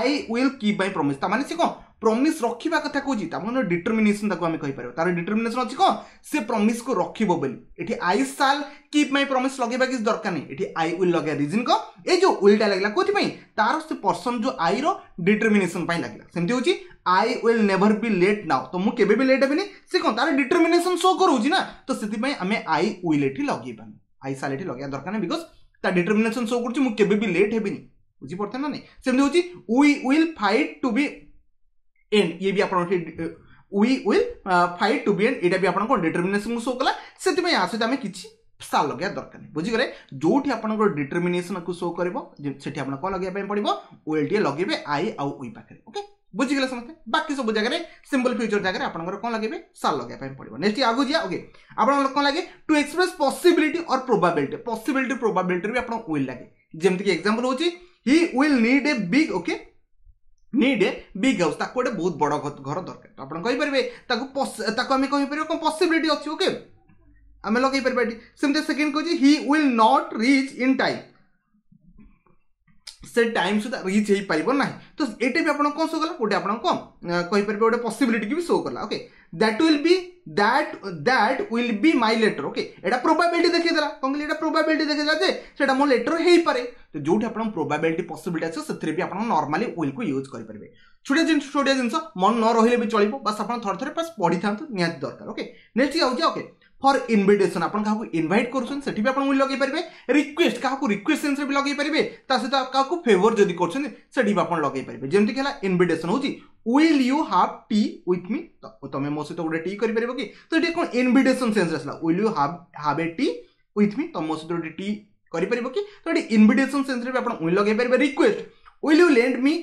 I will keep my promise, ତା ମାନେ ସେ କ'ଣ ପ୍ରମିସ୍ ରଖିବା କଥା କହୁଛି। ତା ମାନେ ଡିଟର୍ମିନେସନ ତାକୁ ଆମେ କହିପାରିବା। ତାର ଡିଟର୍ମିନେସନ ଅଛି କ'ଣ? ସେ ପ୍ରମିସ୍କୁ ରଖିବ ବୋଲି। ଏଠି I shall keep my promise ଲଗେଇବା କିଛି ଦରକାର ନାହିଁ, ଏଠି I will ଲଗେଇବା। ରିଜନ୍ କ'ଣ? ଏଇ ଯେଉଁ ୱିଲ୍ଟା ଲାଗିଲା କୋଉଥିପାଇଁ? ତାର ସେ ପର୍ସନ ଯେଉଁ ଆଇର ଡିଟର୍ମିନେସନ ପାଇଁ ଲାଗିଲା। ସେମିତି ହେଉଛି I will never be late now, ତ ମୁଁ କେବେ ବି ଲେଟ୍ ହେବିନି। ସେ କ'ଣ ତାର ଡିଟର୍ମିନେସନ ଶୋ କରୁଛି ନା, ତ ସେଥିପାଇଁ ଆମେ I will ଏଠି ଲଗେଇବାନି, I ସାଲ୍ ଏଠି ଲଗେଇବା ଦରକାର ନାହିଁ, because ତା ଡିଟର୍ମିନେସନ ଶୋ କରୁଛି ମୁଁ କେବେ ବି ଲେଟ୍ ହେବିନି। ବୁଝିପାରୁଛନ୍ତି ନା ନାଇଁ? ସେମିତି ହେଉଛି we will fight to be end, ଇଏ ବି ଆପଣ we will fight to be end, ଏଇଟା ବି ଆପଣଙ୍କ ଡିଟର୍ମିନେସନକୁ ଶୋ କଲା। ସେଥିପାଇଁ ଆ ସହିତ ଆମେ କିଛି ସାଲ୍ ଲଗେଇବା ଦରକାର ନାହିଁ। ବୁଝିଗଲେ? ଯୋଉଠି ଆପଣଙ୍କର ଡିଟର୍ମିନେସନକୁ ଶୋ କରିବ, ସେଠି ଆପଣ କ'ଣ ଲଗେଇବା ପାଇଁ ପଡ଼ିବ? Will ଟିକେ ଲଗେଇବେ I ଆଉ we ପାଖରେ। ଓକେ, ବୁଝିଗଲେ ସମସ୍ତେ? ବାକି ସବୁ ଜାଗାରେ ସିମ୍ପଲ୍ ଫ୍ୟୁଚର ଜାଗାରେ ଆପଣଙ୍କର କ'ଣ ଲଗେଇବେ? ସାଲ୍ ଲଗେଇବା ପାଇଁ ପଡ଼ିବ। ନେକ୍ସଟ ଆଗକୁ ଯିବା। ଓକେ, ଆପଣଙ୍କର କ'ଣ ଲାଗେ? To express possibility or probability. Possibility ପ୍ରୋବାବିଲିଟିରେ ବି ଆପଣ will ଲାଗେ। ଯେମିତିକି ଏକ୍ସାମ୍ପଲ୍ ହେଉଛି he will need a big, okay, need a big house, ତାକୁ ଗୋଟେ ବହୁତ ବଡ଼ ଘର ଦରକାର। ଆପଣ କହିପାରିବେ ତାକୁ, ତାକୁ ଆମେ କହିପାରିବା କ'ଣ ପସିବିଲିଟି ଅଛି। ଓକେ, ଆମେ ଲଗେଇ ପାରିବା ଏଠି। ସେମିତି ସେକେଣ୍ଡ କହୁଛି he will not reach in time, ସେ ଟାଇମ୍ ସୁଦ୍ଧା ରିଚ୍ ହେଇପାରିବ ନାହିଁ। ତ ଏଇଟା ବି ଆପଣ କ'ଣ ଶୋ କଲା? ଗୋଟେ ଆପଣ କ'ଣ କହିପାରିବେ, ଗୋଟେ ପସିବିଲିଟିକି ବି ଶୋ କଲା। Okay, that will be that will be my letter. Okay, ଏଇଟା ପ୍ରୋବାବିଲିଟି ଦେଖେଇଦେଲା। କ'ଣ କହିଲି? ଏଇଟା ପ୍ରୋବାବିଲିଟି ଦେଖେଇଦେଲା ଯେ ସେଇଟା ମୋ ଲେଟର ହେଇପାରେ। ତ ଯୋଉଠି ଆପଣ ପ୍ରୋବାବିଲିଟି ପସିବିଲିଟି ଆସିବ, ସେଥିରେ ବି ଆପଣ ନର୍ମାଲି ୱିଲ୍କୁ ୟୁଜ୍ କରିପାରିବେ। ଛୋଟିଆ ଜିନିଷ, ଛୋଟିଆ ଜିନିଷ ମନ ନ ରହିଲେ ବି ଚଳିବ, ବାସ୍ ଆପଣ ଥରେ ଥରେ ବାସ୍ ପଢ଼ିଥାନ୍ତୁ, ନିହାତି ଦରକାର। ଓକେ, ନେକ୍ସଟ ଯାଉଛି। ଓକେ, ଫର୍ ଇନଭିଟେସନ୍, ଆପଣ କାହାକୁ ଇନଭାଇଟ୍ କରୁଛନ୍ତି, ସେଠି ବି ଆପଣ will ଲଗେଇ ପାରିବେ। ରିକ୍ୱେଷ୍ଟ, କାହାକୁ ରିକ୍ୱେଷ୍ଟ ସେନ୍ସରେ ବି ଲଗେଇ ପାରିବେ। ତା ସହିତ କାହାକୁ ଫେଭର ଯଦି କରୁଛନ୍ତି, ସେଠି ବି ଆପଣ ଲଗେଇ ପାରିବେ। ଯେମିତିକି ହେଲା ଇନଭିଟେସନ୍ ହେଉଛି will you have tea with me, ତମେ ମୋ ସହିତ ଗୋଟେ ଟି କରିପାରିବ କି? ତ ଏଠି କ'ଣ ଇନଭିଟେସନ୍ ସେନ୍ସରେ ଆସିଲା, will you have a tea with me, ତମ ମୋ ସହିତ ଗୋଟେ ଟି କରିପାରିବ କି? ତ ଏଠି ଇନଭିଟେସନ୍ ସେନ୍ସରେ ବି ଆପଣ will ଲଗେଇ ପାରିବେ। Request, will you lend me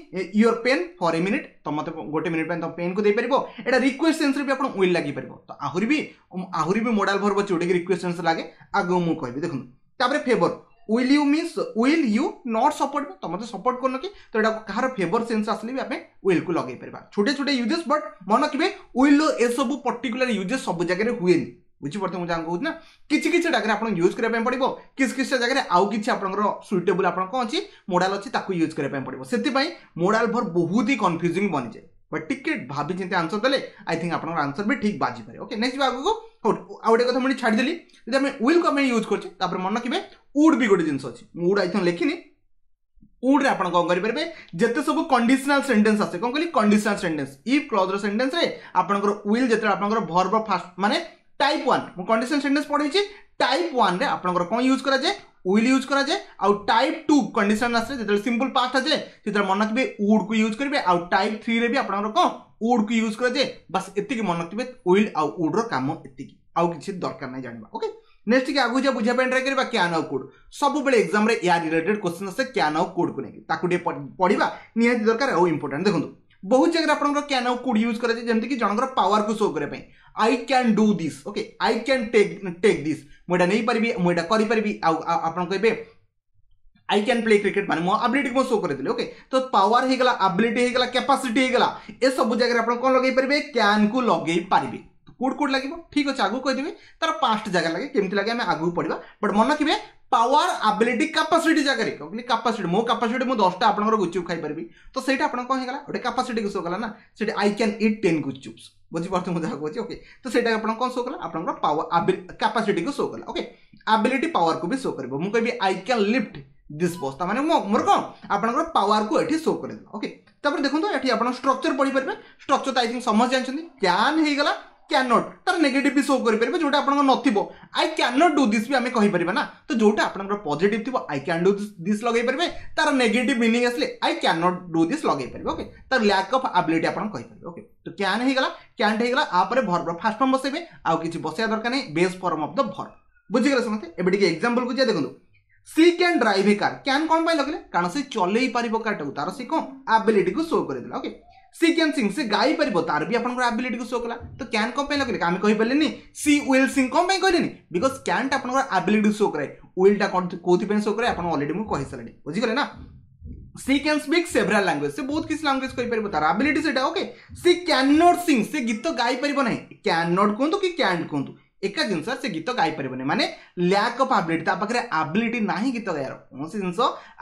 your pen for a minute, ତ ମୋତେ ଗୋଟେ ମିନିଟ୍ ପାଇଁ ତମ ପେନ୍କୁ ଦେଇପାରିବ? ଏଇଟା ରିକ୍ୱେଷ୍ଟ ସେନ୍ସରେ ବି ଆପଣ will ଲାଗିପାରିବ। ତ ଆହୁରି ବି ମୋଡାଲ ଭର୍ବ ଅଛି ଯୋଉଟାକି ରିକ୍ୱେଷ୍ଟ ସେନ୍ସ ଲାଗେ, ଆଗକୁ ମୁଁ କହିବି। ଦେଖନ୍ତୁ, ତାପରେ favour, will you miss will you not support, ତ ମୋତେ ସପୋର୍ଟ କରୁନ କି? ତ ଏଇଟା କାହାର ଫେଭର ସେନ୍ସ ଆସିଲେ ବି ଆମେ ୱିଲ୍କୁ ଲଗେଇ ପାରିବା। ଛୋଟିଆ ଛୋଟିଆ ୟୁଜେସ୍, ବଟ୍ ମନେ ରଖିବେ ୱିଲ୍ର ଏସବୁ ପର୍ଟିକୁଲାର ୟୁଜେସ୍ ସବୁ ଜାଗାରେ ହୁଏନି। ବୁଝିପାରୁଥିବେ ମୁଁ ଯାହା କହୁଛି ନା? କିଛି କିଛି ଜାଗାରେ ଆପଣ ୟୁଜ୍ କରିବା ପାଇଁ ପଡ଼ିବ, କିଛି କିଛି ଜାଗାରେ ଆଉ କିଛି ଆପଣଙ୍କର ସୁଇଟେବୁଲ୍ ଆପଣ କ'ଣ ଅଛି, ମୋଡାଲ ଅଛି, ତାକୁ ୟୁଜ୍ କରିବା ପାଇଁ ପଡ଼ିବ। ସେଥିପାଇଁ ମୋଡାଲ ଭର୍ବ ବହୁତ ହି କନଫ୍ୟୁଜିଂ ବନିଯାଏ, ବଟ୍ ଟିକେ ଭାବି ଚିନ୍ତି ଆନ୍ସର ଦେଲେ I think ଆପଣଙ୍କର ଆନ୍ସର ବି ଠିକ୍ ବାଜିପାରେ। ଓକେ, ନେକ୍ସଟ ଆଗକୁ। ହଉ, ଆଉ ଗୋଟେ କଥା ମୁଁ ଛାଡ଼ିଦେଲି। ଯଦି ଆମେ ୱିଲ୍କୁ ଆମେ ୟୁଜ୍ କରୁଛେ, ତାପରେ ମନେ ରଖିବେ ଉଡ୍ ବି ଗୋଟେ ଜିନିଷ ଅଛି। ମୁଁ ଉଡ୍ I think ଲେଖିନି। ଉଡ୍ରେ ଆପଣ କ'ଣ କରିପାରିବେ? ଯେତେ ସବୁ କଣ୍ଡିସନାଲ ସେଣ୍ଟେନ୍ସ ଆସେ, କ'ଣ କହିଲି? କଣ୍ଡିସନାଲ ସେଣ୍ଟେନ୍ସ, if କ୍ଲଜ୍ର ସେଣ୍ଟେନ୍ସରେ ଆପଣଙ୍କର will ଯେତେବେଳେ ଆପଣଙ୍କର ଭର୍ବ ଫାଷ୍ଟ, ମାନେ ଟାଇପ୍ 1, ମୁଁ କଣ୍ଡିସନ ସେଣ୍ଟେନ୍ସ ପଢ଼େଇଛି, ଟାଇପ୍ 1ରେ ଆପଣଙ୍କର କ'ଣ ୟୁଜ୍ କରାଯାଏ? Will use କରାଯାଏ। ଆଉ ଟାଇପ୍ 2 କଣ୍ଡିସନ ଆସିଲେ, ଯେତେବେଳେ ସିମ୍ପଲ୍ ପାଷ୍ଟ ଆସେ, ସେତେବେଳେ ମନେ ରଖିବେ ଉଡ୍କୁ ୟୁଜ୍ କରିବେ। ଆଉ ଟାଇପ୍ 3ରେ ବି ଆପଣଙ୍କର କ'ଣ ଉଡ୍କୁ ୟୁଜ୍ କରାଯାଏ। ବାସ୍ ଏତିକି ମନେ ରଖିବେ, will ଆଉ ଉଡ୍ର କାମ ଏତିକି, ଆଉ କିଛି ଦରକାର ନାହିଁ ଜାଣିବା। ଓକେ, ନେକ୍ସଟ ଟିକେ ଆଗକୁ ଯିବା, ବୁଝିବା ପାଇଁ ଟ୍ରାଏ କରିବା can ଆଉ could. ସବୁବେଳେ ଏକ୍ସାମରେ ୟା ରିଲେଟେଡ୍ କ୍ୱେଶ୍ଚନ୍ ଆସେ, can ଆଉ କୁଡ୍କୁ ନେଇକି, ତାକୁ ଟିକେ ପଢ଼ିବା ନିହାତି ଦରକାର ଆଉ ଇମ୍ପୋର୍ଟାଣ୍ଟ। ଦେଖନ୍ତୁ, ବହୁତ ଜାଗାରେ ଆପଣଙ୍କର can ଆଉ could use କରାଯାଏ, ଯେମିତିକି ଜଣଙ୍କର ପାୱାରକୁ ଶୋ କରିବା ପାଇଁ। I can do this, okay, I can take this, ମୁଁ ଏଇଟା ନେଇପାରିବି, ମୁଁ ଏଇଟା କରିପାରିବି। ଆଉ ଆପଣ କହିବେ I can play cricket, ମାନେ ମୋ ଆବିଲିଟି ମୁଁ ଶୋ କରିଦେଲି। ଓକେ, ତ ପାୱାର ହେଇଗଲା, ଆବିଲିଟି ହେଇଗଲା, କ୍ୟାପାସିଟି ହେଇଗଲା, ଏସବୁ ଜାଗାରେ ଆପଣ କ'ଣ ଲଗେଇ ପାରିବେ? କ୍ୟାନ୍କୁ ଲଗେଇ ପାରିବେ। Could could ଲାଗିବ? ଠିକ୍ ଅଛି, ଆଗକୁ କହିଦେବି ତାର ପାଞ୍ଚଟା ଜାଗା ଲାଗେ, କେମିତି ଲାଗେ ଆମେ ଆଗକୁ ପଢ଼ିବା। ବଟ୍ ମନେ ରଖିବେ ପାୱାର, ଆବିଲିଟି, କାପାସିଟି ଜାଗାରେ। କହିଲି କାପାସିଟି, ମୋ କାପାସିଟି ମୁଁ 10ଟା ଆପଣଙ୍କର ଗୁପଚୁପ୍ ଖାଇପାରିବି, ତ ସେଇଟା ଆପଣ କ'ଣ ହେଇଗଲା? ଗୋଟେ କାପାସିଟିକୁ ଶୋ କଲା ନା ସେଠି। I can eat 10 gupchups, ବୁଝିପାରୁଥିବେ ମୁଁ ଯାହା କହୁଛି? ଓକେ, ତ ସେଇଟା ଆପଣ କ'ଣ ଶୋ କଲା? ଆପଣଙ୍କର ପାୱାର କାପାସିଟିକୁ ଶୋ କଲା। ଓକେ, ଆବିଲିଟି ପାୱାରକୁ ବି ଶୋ କରିବ। ମୁଁ କହିବି I can lift this box, ତା ମାନେ ମୋର କ'ଣ ଆପଣଙ୍କର ପାୱାରକୁ ଏଠି ଶୋ କରିଦେଲା। ଓକେ, ତାପରେ ଦେଖନ୍ତୁ, ଏଠି ଆପଣ ଷ୍ଟ୍ରକ୍ଚର ପଢ଼ିପାରିବେ। ଷ୍ଟ୍ରକ୍ଚର ତ I think ସମସ୍ତେ ଜାଣିଛନ୍ତି। Can ହେଇଗଲା, Can not ତାର ନେଗେଟିଭ୍ ବି ଶୋ କରିପାରିବେ, ଯୋଉଟା ଆପଣଙ୍କର ନଥିବ। I can not do this ବି ଆମେ କହିପାରିବା ନା। ତ ଯୋଉଟା ଆପଣଙ୍କର ପଜିଟିଭ୍ ଥିବ I can do this ଲଗେଇ ପାରିବେ, ତାର ନେଗେଟିଭ୍ ମିନିଂ ଆସିଲେ I can not do this ଲଗେଇ ପାରିବେ। ଓକେ, ତାର ଲ୍ୟାକ୍ ଅଫ୍ ଆବିଲିଟି ଆପଣ କହିପାରିବେ। ଓକେ, ତ can ହେଇଗଲା, କ୍ୟାଣ୍ଟ ହେଇଗଲା, ଆପରେ ଭର୍ବର ଫାର୍ଷ୍ଟ ଫର୍ମ ବସେଇବେ, ଆଉ କିଛି ବସେଇବା ଦରକାର ନାହିଁ, base form of the verb. ବୁଝିଗଲେ ସମସ୍ତେ? ଏବେ ଟିକେ ଏକ୍ସାମ୍ପଲକୁ ଯିବା। ଦେଖନ୍ତୁ, she can drive a car. Can କ'ଣ ପାଇଁ ଲଗେଇଲେ? କାରଣ ସେ ଚଲେଇ ପାରିବ କାରଟାକୁ, ତାର ସେ କ'ଣ ଆବିଲିଟିକୁ ଶୋ କରିଦେଲା। ଓକେ, ସି can Singh, ସେ ଗାଇ ପାରିବ, ତାର ବି ଆପଣଙ୍କର ଆବିଲିଟିକୁ ଶୋ କଲା। ତ can କ'ଣ ପାଇଁ ଲଗେଇଲେ? ଆମେ କହିପାରିଲେନି ସି will Singh, କ'ଣ ପାଇଁ କହିଲେନି? Because କ୍ୟାନ୍ଟା ଆପଣଙ୍କର ଆବିଲିଟି ଶୋ କରାଏ, ୱିଲ୍ଟା କ'ଣ କୋଉଥିପାଇଁ ଶୋ କରାଏ ଆପଣ ଅଲରେଡି ମୁଁ କହିସାରିଲିଣି, ବୁଝିଗଲେ ନା? She can speak several language, ସେ ବହୁତ କିଛି ଲାଙ୍ଗୁଏଜ କହିପାରିବ, ତାର ଆବିଲିଟି ସେଇଟା। Okay, she can not sing, ସେ ଗୀତ ଗାଇପାରିବ ନାହିଁ। Can not କୁହନ୍ତୁ କି କ୍ୟାଣ୍ଟ କୁହନ୍ତୁ ଏକା ଜିନିଷ, ସେ ଗୀତ ଗାଇପାରିବନି ମାନେ ଲ୍ୟାକ୍ ଅଫ୍ ଆବିଲିଟି, ତା ପାଖରେ ଆବିଲିଟି ନାହିଁ ଗୀତ ଗାଇବାର। କୌଣସି ଜିନିଷ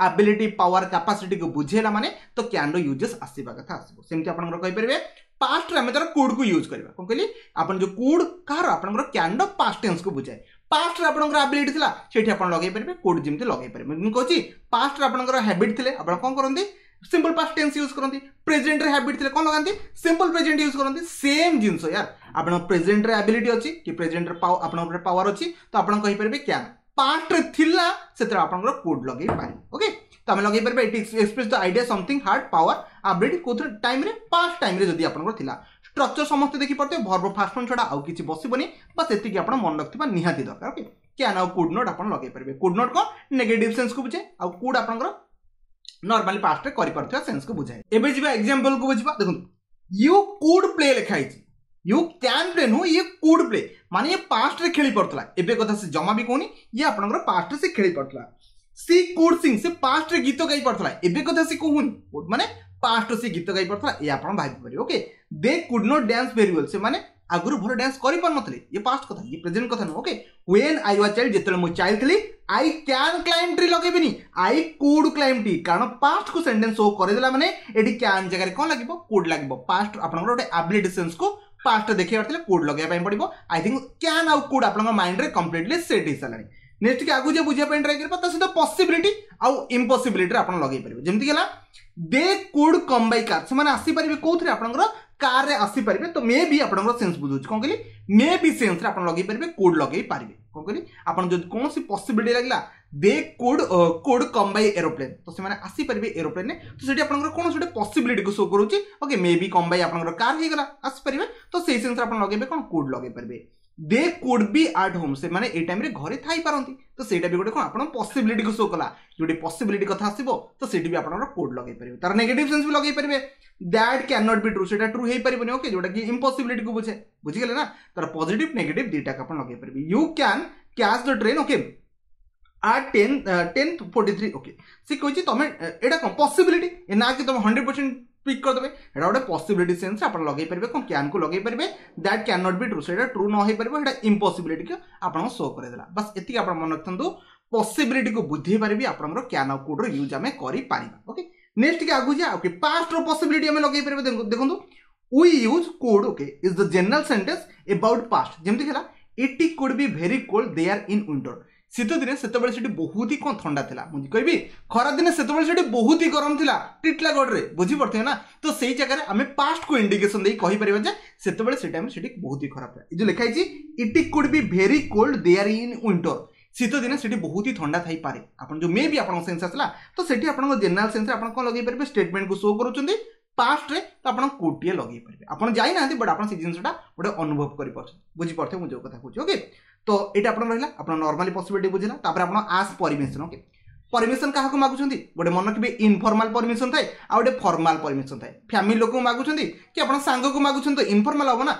ଆବିଲିଟି, ପାୱାର, କାପାସିଟିକୁ ବୁଝେଇଲା ମାନେ ତ କ୍ୟାନ୍ର ୟୁଜେସ୍ ଆସିବା କଥା ଆସିବ। ସେମିତି ଆପଣଙ୍କର କହିପାରିବେ ପାଷ୍ଟରେ ଆମେ ତାର କୁଡ୍କୁ ୟୁଜ୍ କରିବା। କ'ଣ କହିଲି? ଆପଣ ଯେଉଁ could କାହାର ଆପଣଙ୍କର କ୍ୟାନ୍ର ପାଷ୍ଟ ଟେନ୍ସକୁ ବୁଝାଏ। ପାଷ୍ଟରେ ଆପଣଙ୍କର ଆବିଲିଟି ଥିଲା, ସେଇଠି ଆପଣ ଲଗେଇ ପାରିବେ could, ଯେମିତି ଲଗେଇ ପାରିବେ। ମୁଁ କହୁଛି ପାଷ୍ଟରେ ଆପଣଙ୍କର ହ୍ୟାବିଟ୍ ଥିଲେ ଆପଣ କ'ଣ କରନ୍ତି? ସିମ୍ପଲ୍ ପାଷ୍ଟ ଟେନ୍ସ ୟୁଜ୍ କରନ୍ତି। ପ୍ରେଜେଣ୍ଟରେ ହ୍ୟାବିଟ୍ ଥିଲେ କ'ଣ ଲଗାନ୍ତି? ସିମ୍ପଲ୍ ପ୍ରେଜେଣ୍ଟ ୟୁଜ୍ କରନ୍ତି। ସେମ୍ ଜିନିଷ ୟାର, ଆପଣ ପ୍ରେଜେଣ୍ଟରେ ଆବିଲିଟି ଅଛି କି ପ୍ରେଜେଣ୍ଟରେ ଆପଣଙ୍କ ଉପରେ ପାୱାର ଅଛି, ତ ଆପଣ କହିପାରିବେ can. ପାଷ୍ଟରେ ଥିଲା ସେଥିରେ ଆପଣଙ୍କର could ଲଗେଇ ପାରିବେ। ଓକେ, ତ ଆମେ ଲଗେଇ ପାରିବା। It express the idea something had power ability, କୋଉଥିରେ ଟାଇମ୍ରେ? ପାଷ୍ଟ ଟାଇମ୍ରେ ଯଦି ଆପଣଙ୍କର ଥିଲା। ଷ୍ଟ୍ରକ୍ଚର ସମସ୍ତେ ଦେଖିପାରୁଥିବେ, ଭର୍ବ ଫାଷ୍ଟ ଫର୍ମ ଛଡ଼ା ଆଉ କିଛି ବସିବନି, ବାସ୍ ଏତିକି ଆପଣ ମନେ ରଖିଥିବା ନିହାତି ଦରକାର। ଓକେ, can ଆଉ could not ଆପଣ ଲଗେଇ ପାରିବେ। Could not କ'ଣ ନେଗେଟିଭ୍ ସେନ୍ସକୁ ବୁଝେ, ଆଉ could ଆପଣଙ୍କର ନର୍ମାଲି ପାଷ୍ଟରେ କରିପାରୁଥିବା ସେନ୍ସକୁ ବୁଝାଏ। ଏବେ ଯିବା ଏକ୍ସାମ୍ପଲକୁ ବୁଝିବା। ଦେଖନ୍ତୁ, you could play ଲେଖା ହେଇଛି, you can play ନୁହଁ, ଇଏ could play ମାନେ ଇଏ ପାଷ୍ଟରେ ଖେଳି ପାରୁଥିଲା, ଏବେ କଥା ସେ ଜମା ବି କହୁନି, ଇଏ ଆପଣଙ୍କର ପାଷ୍ଟରେ ସେ ଖେଳି ପାରୁଥିଲା। ସି could Singh, ସେ ପାଷ୍ଟରେ ଗୀତ ଗାଇ ପାରୁଥିଲା, ଏବେ କଥା ସେ କହୁନି, ମାନେ ପାଷ୍ଟରେ ସେ ଗୀତ ଗାଇ ପାରୁଥିଲା, ଏ ଆପଣ ଭାବିପାରିବେ। Okay, they could not dance very well, ସେମାନେ ଆଗରୁ ଭଲ ଡ୍ୟାନ୍ସ କରିପାରୁନଥିଲେ, ଇଏ ପାଷ୍ଟ କଥା, ଇଏ ପ୍ରେଜେଣ୍ଟ କଥା ନୁହଁ। Okay, when I was child, ଯେତେବେଳେ ମୁଁ ଚାଇଲ୍ଡ ଥିଲି, I can climb tree ଲଗେଇବିନି, I could climb tree, କାରଣ ପାଷ୍ଟକୁ ସେଣ୍ଟେନ୍ସ ଶୋ କରିଦେଲା ମାନେ ଏଠି can ଜାଗାରେ କ'ଣ ଲାଗିବ? Could ଲାଗିବ। ପାଷ୍ଟ ଆପଣଙ୍କର ଗୋଟେ ଆବିଲିଟି ସେନ୍ସକୁ ପାଷ୍ଟ ଦେଖେଇବାର ଥିଲେ could ଲଗେଇବା ପାଇଁ ପଡ଼ିବ। I think can ଆଉ could ଆପଣଙ୍କ ମାଇଣ୍ଡରେ କମ୍ପ୍ଲିଟଲି ସେଟ୍ ହେଇସାରିଲାଣି। ନେକ୍ସଟ ଟିକେ ଆଗକୁ ଯେ ବୁଝିବା ପାଇଁ ଟ୍ରାଏ କରିବା, ତା ସହିତ ପସିବିଲିଟି ଆଉ ଇମ୍ପସିବିଲିଟିରେ ଆପଣ ଲଗେଇ ପାରିବେ। ଯେମିତି ହେଲା they could come by car, ସେମାନେ ଆସିପାରିବେ କୋଉଥିରେ? ଆପଣଙ୍କର କାର୍ରେ ଆସିପାରିବେ। ତ ମେ ବି ଆପଣଙ୍କର ସେନ୍ସ ବୁଝଉଛି, କ'ଣ କହିଲି? ମେ ବି ସେନ୍ସରେ ଆପଣ ଲଗେଇ ପାରିବେ, could ଲଗେଇ ପାରିବେ। କ'ଣ କହିଲି? ଆପଣ ଯଦି କୌଣସି ପସିବିଲିଟି ଲାଗିଲା, they could come by aeroplane, ତ ସେମାନେ ଆସିପାରିବେ ଏରୋପ୍ଲେନ୍ରେ, ତ ସେଠି ଆପଣଙ୍କର କୌଣସି ଗୋଟେ ପସିବିଲିଟିକୁ ଶୋ କରୁଛି। ଓକେ, ମେ ବି କମ୍ ବାଇ ଆପଣଙ୍କର କାର୍ ହେଇଗଲା, ଆସିପାରିବେ, ତ ସେଇ ସେନ୍ସରେ ଆପଣ ଲଗେଇବେ କ'ଣ? Could ଲଗେଇ ପାରିବେ। They could be at home, ସେମାନେ ଏଇ ଟାଇମ୍ରେ ଘରେ ଥାଇପାରନ୍ତି, ତ ସେଇଟା ବି ଗୋଟେ କ'ଣ ଆପଣ ପସିବିଲିଟିକୁ ଶୋ କଲା। ଯୋଉଠି ପସିବିଲିଟି କଥା ଆସିବ ତ ସେଇଠି ବି ଆପଣଙ୍କର could ଲଗେଇ ପାରିବେ। ତାର ନେଗେଟିଭ୍ ସେନ୍ସ ବି ଲଗେଇ ପାରିବେ। That can not be true, ସେଇଟା ଟ୍ରୁ ହେଇପାରିବନି। ଓକେ, ଯୋଉଟା କି ଇମ୍ପସିବିଲିଟିକୁ ବୁଝେ, ବୁଝିଗଲେ ନା? ତାର ପଜିଟିଭ୍ ନେଗେଟିଭ୍ ଦୁଇଟାକୁ ଆପଣ ଲଗେଇ ପାରିବେ। You can catch the train, okay, at 10:10:43। Okay, ସେ କହୁଛି ତମେ ଏଇଟା କ'ଣ ପସିବିଲିଟି ନା କି ତମେ 100% ପିକ୍ କରିଦେବେ, ଏଇଟା ଗୋଟେ ପସିବିଲିଟି ସେନ୍ସ ଆପଣ ଲଗେଇ ପାରିବେ, କ'ଣ କ୍ୟାନ୍କୁ ଲଗେଇ ପାରିବେ। That can not be true, ସେଇଟା ଟ୍ରୁ ନ ହେଇପାରିବ, ସେଇଟା ଇମ୍ପସିବିଲିଟିକୁ ଆପଣଙ୍କୁ ଶୋ କରିଦେଲା। ବାସ୍ ଏତିକି ଆପଣ ମନେ ରଖିଥାନ୍ତୁ, ପସିବିଲିଟିକୁ ବୁଝେଇ ପାରିବି ଆପଣଙ୍କର can ଆଉ କୁଡ୍ର ୟୁଜ୍ ଆମେ କରିପାରିବା। ଓକେ, ନେକ୍ସଟ ଟିକେ ଆଗକୁ ଯିବା। ଓକେ, ପାଷ୍ଟର ପସିବିଲିଟି ଆମେ ଲଗେଇ ପାରିବା। ଦେଖନ୍ତୁ, we use could, okay, is the general sentence about past. ଯେମିତି ହେଲା it could be very cold there in winter, ଶୀତ ଦିନେ ସେତେବେଳେ ସେଠି ବହୁତ ହି କ'ଣ ଥଣ୍ଡା ଥିଲା। ମୁଁ କହିବି ଖରାଦିନେ ସେତେବେଳେ ସେଠି ବହୁତ ହି ଗରମ ଥିଲା ଟିଟଲାଗଡ଼ରେ, ବୁଝିପାରୁଥିବେ ନା? ତ ସେଇ ଜାଗାରେ ଆମେ ପାଷ୍ଟକୁ ଇଣ୍ଡିକେସନ ଦେଇ କହିପାରିବା ଯେ ସେତେବେଳେ ସେ ଟାଇମ୍ ସେଠି ବହୁତ ହି ଖରାପ ଥିଲା। ଏ ଯେଉଁ ଲେଖା ହେଇଛି it could be very cold there in winter, ଶୀତ ଦିନେ ସେଠି ବହୁତ ହି ଥଣ୍ଡା ଥାଇପାରେ। ଆପଣ ଯେଉଁ ମେ ବି ଆପଣଙ୍କ ସେନ୍ସ ଆସିଲା, ତ ସେଠି ଆପଣଙ୍କ ଜେନେରାଲ ସେନ୍ସରେ ଆପଣ କ'ଣ ଲଗେଇ ପାରିବେ? ଷ୍ଟେଟମେଣ୍ଟକୁ ଶୋ କରୁଛନ୍ତି ପାଷ୍ଟରେ, ତ ଆପଣ କୁଡ୍ଟିଏ ଲଗେଇ ପାରିବେ। ଆପଣ ଯାଇନାହାନ୍ତି, ବଟ୍ ଆପଣ ସେ ଜିନିଷଟା ଗୋଟେ ଅନୁଭବ କରିପାରୁଛନ୍ତି, ବୁଝିପାରୁଥିବେ ମୁଁ ଯେଉଁ କଥା କହୁଛି। ଓକେ, ତ ଏଇଟା ଆପଣ ରହିଲା ଆପଣ ନର୍ମାଲି ପସିବିଲିଟି ବୁଝିଲା। ତାପରେ ଆପଣ ଆସ୍ ପରମିଶନ। ଓକେ, ପରମିଶନ କାହାକୁ ମାଗୁଛନ୍ତି? ଗୋଟେ ମନେ ରଖିବେ ଇନଫର୍ମାଲ ପରମିଶନ ଥାଏ ଆଉ ଗୋଟେ ଫର୍ମାଲ ପରମିଶନ ଥାଏ। ଫ୍ୟାମିଲି ଲୋକଙ୍କୁ ମାଗୁଛନ୍ତି କି ଆପଣ ସାଙ୍ଗକୁ ମାଗୁଛନ୍ତି ତ ଇନଫର୍ମାଲ ହବ ନା।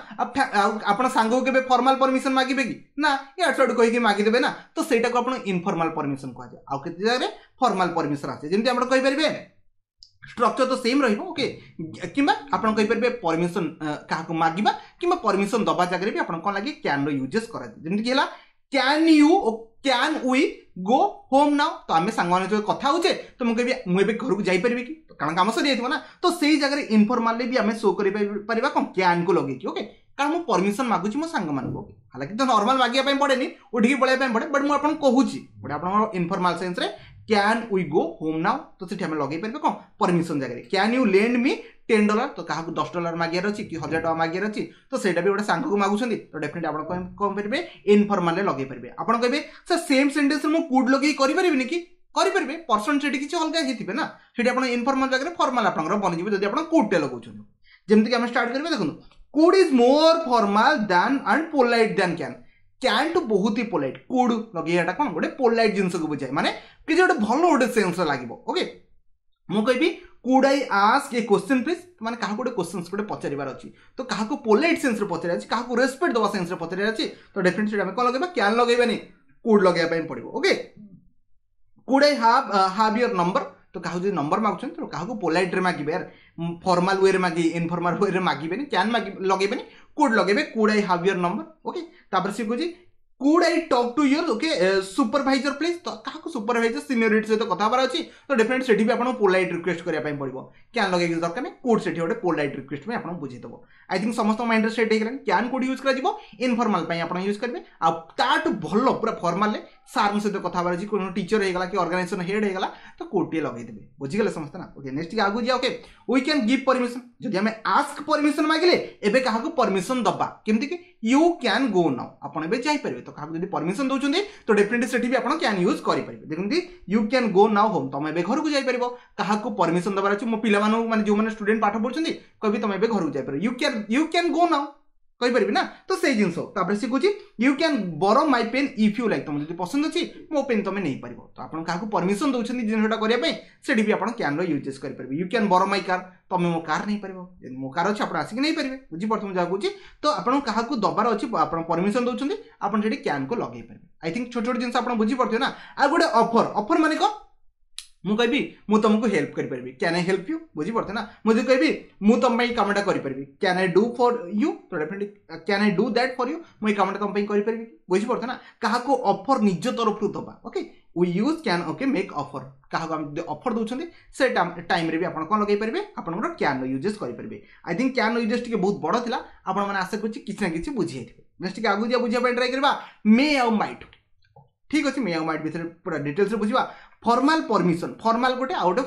ଆଉ ଆପଣ ସାଙ୍ଗକୁ କେବେ ଫର୍ମାଲ ପରମିଶନ ମାଗିବେ କି ନା? ଇଆଡ଼ୁ ସିଆଡ଼ୁ କହିକି ମାଗିଦେବେ ନା, ତ ସେଇଟାକୁ ଆପଣ ଇନଫର୍ମାଲ ପରମିଶନ କୁହାଯାଏ। ଆଉ କେତେ ଜାଗାରେ ଫର୍ମାଲ ପରମିଶନ ଆସେ, ଯେମିତି ଆପଣ କହିପାରିବେ ଷ୍ଟ୍ରକ୍ଚର ତ ସେମ୍ ରହିବ। ଓକେ, କିମ୍ବା ଆପଣ କହିପାରିବେ ପରମିଶନ କାହାକୁ ମାଗିବା କିମ୍ବା ପରମିଶନ ଦେବା ଜାଗାରେ ବି ଆପଣ କ'ଣ ଲାଗେ କ୍ୟାନ୍ର ୟୁଜେସ୍ କରାଯାଏ। ଯେମିତିକି ହେଲା can you can we go home now, ତ ଆମେ ସାଙ୍ଗମାନଙ୍କ ସହିତ କଥା ହେଉଛେ, ତ ମୁଁ କହିବି ମୁଁ ଏବେ ଘରକୁ ଯାଇପାରିବି କି, କାରଣ କାମ ସରିଯାଇଥିବ ନା। ତ ସେଇ ଜାଗାରେ ଇନଫର୍ମାଲି ବି ଆମେ ଶୋ କରିପାରିବା କ'ଣ କ୍ୟାନ୍କୁ ଲଗେଇକି। ଓକେ, କାରଣ ମୁଁ ପରମିଶନ ମାଗୁଛି ମୋ ସାଙ୍ଗମାନଙ୍କୁ। ଓକେ, ହାଲାକି ତ ନର୍ମାଲ ମାଗିବା ପାଇଁ ପଡ଼େନି, ଉଠିକି ପଳେଇବା ପାଇଁ ପଡ଼େ, ବଟ୍ ମୁଁ ଆପଣଙ୍କୁ କହୁଛି ଗୋଟେ ଆପଣଙ୍କର informal ସେନ୍ସରେ can we go home now, ତ ସେଠି ଆମେ ଲଗେଇ ପାରିବେ କ'ଣ ପରମିସନ୍ ଜାଗାରେ। Can you lend me $10? ତ କାହାକୁ $10 ମାଗିବାର ଅଛି କି 1000 ଟଙ୍କା ମାଗିବାର ଅଛି, ତ ସେଇଟା ବି ଗୋଟେ ସାଙ୍ଗକୁ ମାଗୁଛନ୍ତି, ତ ଡେଫିନେଟଲି ଆପଣ କ'ଣ କରିବେ? ଇନଫର୍ମାଲରେ ଲଗେଇ ପାରିବେ। ଆପଣ କହିବେ, ସାର୍, ସେମ୍ ସେଣ୍ଟେନ୍ସରେ ମୁଁ could ଲଗେଇ କରିପାରିବିନି କି? କରିପାରିବେ। ପର୍ସନ୍ ସେଠି କିଛି ଅଲଗା ହେଇଥିବେ ନା, ସେଠି ଆପଣ ଇନଫର୍ମାଲ ଜାଗାରେ ଫର୍ମାଲ ଆପଣଙ୍କର ବନିଯିବ ଯଦି ଆପଣ କୁଡ୍ଟେ ଲଗାଉଛନ୍ତି। ଯେମିତିକି ଆମେ ଷ୍ଟାର୍ଟ କରିବା, ଦେଖନ୍ତୁ, could is more formal than and polite than can. Can ଠୁ ବହୁତ ହି ପୋଲାଇଟ୍। Could ଲଗେଇବାଟା କ'ଣ ଗୋଟେ ପୋଲାଇଟ୍ ଜିନିଷକୁ ବୁଝାଏ, ମାନେ କିଛି ଗୋଟେ ଭଲ ଗୋଟେ ସେନ୍ସ ଲାଗିବ। ଓକେ, ମୁଁ କହିବି, could I ask a question, please? ମାନେ କାହାକୁ ଗୋଟେ କ୍ୱେଶ୍ଚନ୍ସ ଗୋଟେ ପଚାରିବାର ଅଛି, ତ କାହାକୁ ପୋଲାଇଟ୍ ସେନ୍ସରେ ପଚାରିବାର ଅଛି, କାହାକୁ ରେସ୍ପେକ୍ଟ ଦେବା ସେନ୍ସରେ ପଚାରିବାର ଅଛି, ତ ଡେଫିନେଟଲି ସେଟା ଆମେ କ'ଣ ଲଗେଇବା? Can ଲଗେଇବାନି, could ଲଗେଇବା ପାଇଁ ପଡ଼ିବ। Okay, could I have your number? ତ କାହାକୁ ଯଦି ନମ୍ବର ମାଗୁଛନ୍ତି, ତ କାହାକୁ ପୋଲାଇଟ୍ରେ ମାଗିବେ ୟାର, ଫର୍ମାଲ ୱେରେ ମାଗି, ଇନଫର୍ମାଲ ୱେରେ ମାଗିବେନି, can ମାଗି ଲଗେଇବେନି, could ଲଗେଇବେ। Could I have your number? Okay, ତାପରେ ସେ କହୁଛି, could I talk to your, okay, supervisor, please? ତ କାହାକୁ ସୁପରଭାଇଜର ସିନିୟରିଟି ସହିତ କଥା ହେବାର ଅଛି, ତ ଡେଫିନେଟ୍ ସେଠି ବି ଆପଣଙ୍କୁ ପୋଲାଇଟ୍ ରିକ୍ୱେଷ୍ଟ କରିବା ପାଇଁ ପଡ଼ିବ। Can ଲଗେଇକି ଦରକାର ନାହିଁ, could ସେଠି ଗୋଟେ ପୋଲାଇଟ୍ ରିକ୍ୱେଷ୍ଟ ପାଇଁ ଆପଣଙ୍କୁ ବୁଝେଇଦେବ। I think ସମସ୍ତଙ୍କ ମାଇଣ୍ଡରେ ସେଟ୍ ହେଇଗଲାଣି। Can could use କରାଯିବ ଇନଫର୍ମାଲ ପାଇଁ ଆପଣ ୟୁଜ୍ କରିବେ, ଆଉ ତାଠୁ ଭଲ ପୁରା ଫର୍ମାଲରେ ସାର୍ଙ୍କ ସହିତ କଥା ହେବାର ଅଛି, কোনো ଟିଚର ହେଇଗଲା କି ଅର୍ଗାନାଇଜେସନ ହେଡ୍ ହେଇଗଲା, ତ could ଟିକେ ଲଗେଇଦେବେ। ବୁଝିଗଲେ ସମସ୍ତେ ନା? ଓକେ, ନେକ୍ସଟ ଟିକେ ଆଗକୁ ଯିବା। Okay, we can give permission. ଯଦି ଆମେ ଆସ୍କ ପରମିସନ ମାଗିଲେ, ଏବେ କାହାକୁ ପରମିସନ ଦବା, କେମିତି କି you can go now, ଆପଣ ଏବେ ଯାଇପାରିବେ। ତ କାହାକୁ ଯଦି ପରମିସନ ଦେଉଛନ୍ତି, ତ ଡେଫିନେଟଲି ସେଠି ବି ଆପଣ can use କରିପାରିବେ। ଦେଖନ୍ତି, you can go now home, ତମେ ଏବେ ଘରକୁ ଯାଇପାରିବ। କାହାକୁ ପରମିସନ ଦେବାର ଅଛି, ମୋ ପିଲାମାନଙ୍କୁ, ମାନେ ଯେଉଁମାନେ ଷ୍ଟୁଡେଣ୍ଟ ପାଠ ପଢୁଛନ୍ତି, କହିବି ତମେ ଏବେ ଘରକୁ ଯାଇପାରିବ, you can go now କହିପାରିବି ନା? ତ ସେଇ ଜିନିଷ। ତାପରେ ସେ କହୁଛି, you can borrow my pen if you like, ତମେ ଯଦି ପସନ୍ଦ ଅଛି ମୋ ପେନ୍ ତମେ ନେଇପାରିବ। ତ ଆପଣ କାହାକୁ ପରମିସନ ଦେଉଛନ୍ତି ଜିନିଷଟା କରିବା ପାଇଁ, ସେଠି ବି ଆପଣ କ୍ୟାନ୍ର ୟୁଜେସ୍ କରିପାରିବେ। You can borrow my car, ତମେ ମୋ କାର୍ ନେଇପାରିବ, ମୋ କାର୍ ଅଛି, ଆପଣ ଆସିକି ନେଇପାରିବେ। ବୁଝିପାରୁଥିବେ ମୁଁ ଯାହା କହୁଛି? ତ ଆପଣଙ୍କୁ କାହାକୁ ଦବାର ଅଛି, ଆପଣ ପରମିସନ ଦେଉଛନ୍ତି, ଆପଣ ସେଠି କ୍ୟାନ୍କୁ ଲଗେଇ ପାରିବେ। I think ଛୋଟ ଛୋଟ ଜିନିଷ ଆପଣ ବୁଝିପାରୁଥିବେ ନା? ଆଉ ଗୋଟେ ଅଫର। ଅଫର ମାନେ କ'ଣ? ମୁଁ କହିବି, ମୁଁ ତୁମକୁ ହେଲ୍ପ କରିପାରିବି, can I help you? ବୁଝିପାରୁଥିବେ ନା? ମୁଁ ଯଦି କହିବି, ମୁଁ ତୁମ ପାଇଁ କାମଟା କରିପାରିବି, can I do for you? ତ definitely, can I do that for you? ମୁଁ ଏଇ କାମଟା ତୁମ ପାଇଁ କରିପାରିବି। ବୁଝିପାରୁଥିବେ ନା? କାହାକୁ ଅଫର ନିଜ ତରଫରୁ ଦେବା, okay, we use can, okay, make offer. କାହାକୁ ଆମେ ଯଦି ଅଫର ଦେଉଛନ୍ତି, ସେ ଟାଇମ୍ରେ ବି ଆପଣ କ'ଣ ଲଗେଇ ପାରିବେ? ଆପଣଙ୍କର କ୍ୟାନ୍ର ୟୁଜେସ୍ କରିପାରିବେ। I think କ୍ୟାନ୍ର ୟୁଜେସ୍ ଟିକେ ବହୁତ ବଡ଼ ଥିଲା, ଆପଣମାନେ ଆଶା କରୁଛି କିଛି ନା କିଛି ବୁଝି ଯାଇଥିବେ। ନେକ୍ସଟ ଟିକେ ଆଗକୁ ଯିବା, ବୁଝିବା ପାଇଁ ଟ୍ରାଏ କରିବା ମେ ଆଉ ମାଇଟ୍। ଠିକ୍ ଅଛି, ମେ ଆଉ ମାଇଟ୍ ବିଷୟରେ ପୁରା ଡିଟେଲ୍ସରେ ବୁଝିବା। ଫର୍ମାଲ ପରମିସନ, ଫର୍ମାଲ ଗୋଟେ, ଆଉ ଗୋଟେ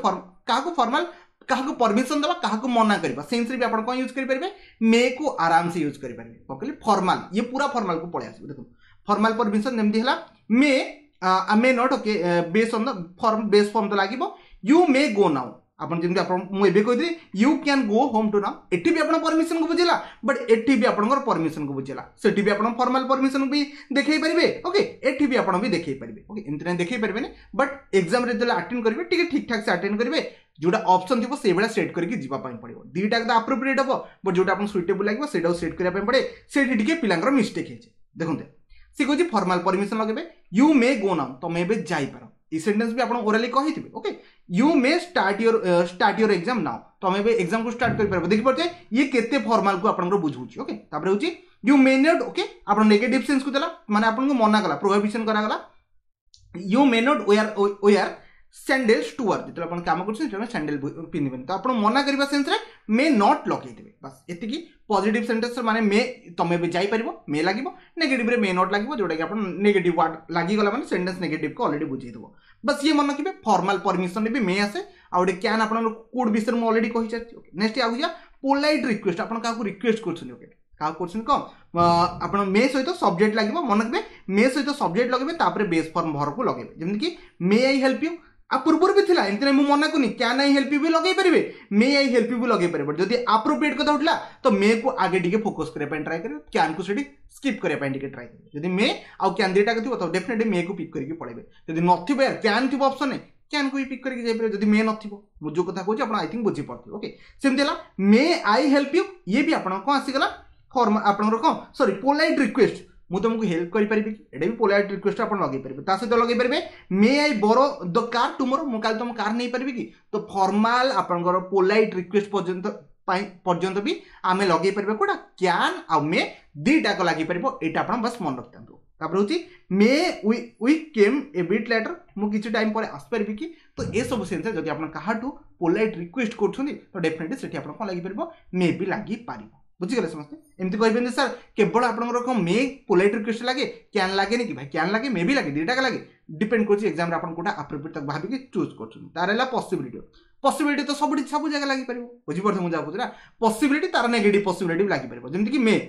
କାହାକୁ ଫର୍ମାଲ, କାହାକୁ ପରମିସନ ଦେବା, କାହାକୁ ମନା କରିବା ସେନ୍ସରେ ବି ଆପଣ କ'ଣ ୟୁଜ୍ କରିପାରିବେ? ମେ କୁ ଆରାମସେ ୟୁଜ୍ କରିପାରିବେ। କ'ଣ କହିଲି? ଫର୍ମାଲ, ଇଏ ପୁରା ଫର୍ମାଲକୁ ପଳେଇ ଆସିବ। ଦେଖନ୍ତୁ, ଫର୍ମାଲ ପରମିସନ ଯେମିତି ହେଲା may, may not, okay, base on the form, base form ତ ଲାଗିବ। You may go now. ଆପଣ ଯେମିତି ଆପଣ ମୁଁ ଏବେ କହିଥିଲି, you can go home to now, ଏଠି ବି ଆପଣ ପରମିସନକୁ ବୁଝିଲା, ବଟ୍ ଏଠି ବି ଆପଣଙ୍କର ପରମିସନକୁ ବୁଝିଲା। ସେଠି ବି ଆପଣ ଫର୍ମାଲ ପରମିସନ ବି ଦେଖେଇ ପାରିବେ, ଓକେ, ଏଠି ବି ଆପଣ ବି ଦେଖେଇ ପାରିବେ। ଓକେ, ଏମିତି ନାହିଁ ଦେଖେଇ ପାରିବେନି, ବଟ୍ ଏକ୍ଜାମରେ ଯେତେବେଳେ ଆଟେଣ୍ଡ କରିବେ, ଟିକେ ଠିକ୍ ଠାକ୍ ସେ ଆଟେଣ୍ଡ କରିବେ। ଯୋଉଟା ଅପସନ୍ ଥିବ ସେଇଭଳିଆ ସେଟ୍ କରିକି ଯିବା ପାଇଁ ପଡ଼ିବ। ଦୁଇଟା ତ ଆପ୍ରୋପ୍ରିଏଟ୍ ହେବ, ବଟ୍ ଯୋଉଟା ଆପଣଙ୍କୁ ସୁଇଟେବୁଲ୍ ଲାଗିବ ସେଇଟାକୁ ସେଟ୍ କରିବା ପାଇଁ ପଡ଼େ। ସେଇଠି ଟିକେ ପିଲାଙ୍କର ମିଷ୍ଟେକ୍ ହେଇଛି। ଦେଖନ୍ତୁ, ସେ କହୁଛି ଫର୍ମାଲ ପରମିସନ ଲଗେଇବେ, you may go now, ତମେ ଏବେ ଯାଇପାର। ଏଇ ସେଣ୍ଟେନ୍ସ ବି ଆପଣ ଓରାଲି କହିଥିବେ। Okay, you may start your exam now, ତମେ ଏବେ ଏକ୍ଜାମକୁ ଷ୍ଟାର୍ଟ କରିପାରିବ। ଦେଖିପାରୁଛେ ଇଏ କେତେ ଫର୍ମାଲକୁ ଆପଣଙ୍କର ବୁଝଉଛି। ଓକେ, ତାପରେ ହେଉଛି you may not, okay, ଆପଣ ନେଗେଟିଭ ସେନ୍ସକୁ ଦେଲା, ମାନେ ଆପଣଙ୍କୁ ମନା କଲା, ପ୍ରୋହିବିସନ କରାଗଲା। You may not wear sandals to work, ଯେତେବେଳେ ଆପଣ କାମ କରୁଛନ୍ତି ସେତେବେଳେ ସ୍ୟାଣ୍ଡେଲ ପିନ୍ଧିବେନି। ତ ଆପଣ ମନା କରିବା ସେନ୍ସରେ ମେ not ଲଗେଇଦେବେ, ବାସ୍ ଏତିକି। ପଜିଟିଭ ସେଣ୍ଟେନ୍ସ ମାନେ ମେ, ତମେ ଏବେ ଯାଇପାରିବ, ମେ ଲାଗିବ। ନେଗେଟିଭରେ ମେ not ଲାଗିବ, ଯୋଉଟାକି ଆପଣ ନେଗେଟିଭ ୱାର୍ଡ ଲାଗିଗଲା ମାନେ ସେଣ୍ଟେନ୍ସ ନେଗେଟିଭକୁ ଅଲରେଡି ବୁଝେଇଦେବ। ବାସ୍ ଇଏ ମନେ ରଖିବେ, ଫର୍ମାଲ ପରମିସନରେ ବି ମେ ଆସେ, ଆଉ ଗୋଟେ can ଆପଣଙ୍କର could ବିଷୟରେ ମୁଁ ଅଲରେଡି କହିସାରିଛି। ଓକେ, ନେକ୍ସଟ ଆଗକୁ ଯିବା। ପୋଲାଇଟ୍ ରିକ୍ୱେଷ୍ଟ, ଆପଣ କାହାକୁ ରିକ୍ୱେଷ୍ଟ କରୁଛନ୍ତି। ଓକେ, କାହାକୁ କରୁଛନ୍ତି କ'ଣ? ଆପଣ ମେ ସହିତ ସବଜେକ୍ଟ ଲାଗିବ। ମନେ ରଖିବେ, ମେ ସହିତ ସବଜେକ୍ଟ ଲଗେଇବେ, ତାପରେ ବେସ୍ ଫର୍ମ ଭର୍ବକୁ ଲଗେଇବେ। ଯେମିତିକି may I help you. ଆଉ ପୂର୍ବରୁ ବି ଥିଲା, ଏମିତି ନାହିଁ ମୁଁ ମନା କରୁନି, can I help you ବି ଲଗେଇ ପାରିବେ, may I help you ବି ଲଗେଇ ପାରିବେ। ଯଦି ଆପ୍ରୋପ୍ରିଏଟ୍ କଥା ଉଠିଲା, ତ ମେ କୁ ଆଗେ ଟିକେ ଫୋକସ୍ କରିବା ପାଇଁ ଟ୍ରାଏ କରିବେ, କ୍ୟାନ୍କୁ ସେଠି ସ୍କିପ୍ କରିବା ପାଇଁ ଟିକେ ଟ୍ରାଏ କରିବେ। ଯଦି ମେ ଆଉ can ଦୁଇଟା ଥିବ, ତ ଡେଫିନେଟଲି ମେ କୁ ପିକ୍ କରିକି ପଳେଇବେ। ଯଦି ନଥିବ, can ଥିବ ଅପସନ୍, କ୍ୟାନ୍କୁ ବି ପିକ୍ କରିକି ଯାଇପାରିବେ ଯଦି ମେ ନଥିବ। ମୁଁ ଯେଉଁ କଥା କହୁଛି ଆପଣ I think ବୁଝିପାରୁଥିବେ। ଓକେ, ସେମିତି ହେଲା may I help you, ଇଏ ବି ଆପଣ କ'ଣ ଆସିଗଲା? ଫର୍ମ ଆପଣଙ୍କର କ'ଣ, ସରି, ପୋଲାଇଟ୍ ରିକ୍ୱେଷ୍ଟ, ମୁଁ ତୁମକୁ ହେଲ୍ପ କରିପାରିବି କି? ଏଇଟା ବି ପୋଲାଇଟ୍ ରିକ୍ୱେଷ୍ଟ ଆପଣ ଲଗେଇ ପାରିବେ। ତା ସହିତ ଲଗେଇ ପାରିବେ may I borrow the car tomorrow, ମୁଁ କାଲି ତୁମ କାର୍ ନେଇପାରିବି କି? ତ ଫର୍ମାଲ ଆପଣଙ୍କର ପୋଲାଇଟ୍ ରିକ୍ୱେଷ୍ଟ ପର୍ଯ୍ୟନ୍ତ ପାଇଁ ପର୍ଯ୍ୟନ୍ତ ବି ଆମେ ଲଗେଇ ପାରିବା କୋଉଟା? Can ଆଉ ମେ ଦୁଇଟାକ ଲାଗିପାରିବ। ଏଇଟା ଆପଣ ବାସ୍ ମନେ ରଖିଥାନ୍ତୁ। ତାପରେ ହେଉଛି may we came a bit later, ମୁଁ କିଛି ଟାଇମ୍ ପରେ ଆସିପାରିବି କି? ତ ଏସବୁ ସେନ୍ସରେ ଯଦି ଆପଣ କାହାଠୁ ପୋଲାଇଟ୍ ରିକ୍ୱେଷ୍ଟ କରୁଛନ୍ତି, ତ ଡେଫିନେଟଲି ସେଠି ଆପଣ କ'ଣ ଲାଗିପାରିବ? ମେ ବି ଲାଗିପାରିବ। ବୁଝିଗଲେ ସମସ୍ତେ? ଏମିତି କହିବେନି ସାର୍ କେବଳ ଆପଣଙ୍କର କ'ଣ ମେ ପୋଲାଇଟ୍ ରିକ୍ୱେଷ୍ଟ ଲାଗେ, can ଲାଗେନି କି? ଭାଇ can ଲାଗେ, ମେ ବି ଲାଗେ, ଦୁଇଟା ଲାଗେ। ଡିପେଣ୍ଡ କରୁଛି ଏକ୍ଜାମ୍ରେ ଆପଣ କୋଉଟା ଆପ୍ରୋପ୍ରିଏଟ୍ ତାକୁ ଭାବିକି ଚୁଜ୍ କରୁଛନ୍ତି। ତାର ହେଲା ପସିବିଲିଟି। ପସିବିଲିଟି ତ ସବୁଠି ସବୁ ଜାଗା ଲାଗିପାରିବ, ବୁଝିପାରୁଥିବେ ମୁଁ ଯାହା କହୁଛି ନା? ପସିବିଲିଟି ତାର ନେଗେଟିଭ୍ ପସିବିଲିଟି ବି ଲାଗିପାରିବ। ଯେମିତିକି may,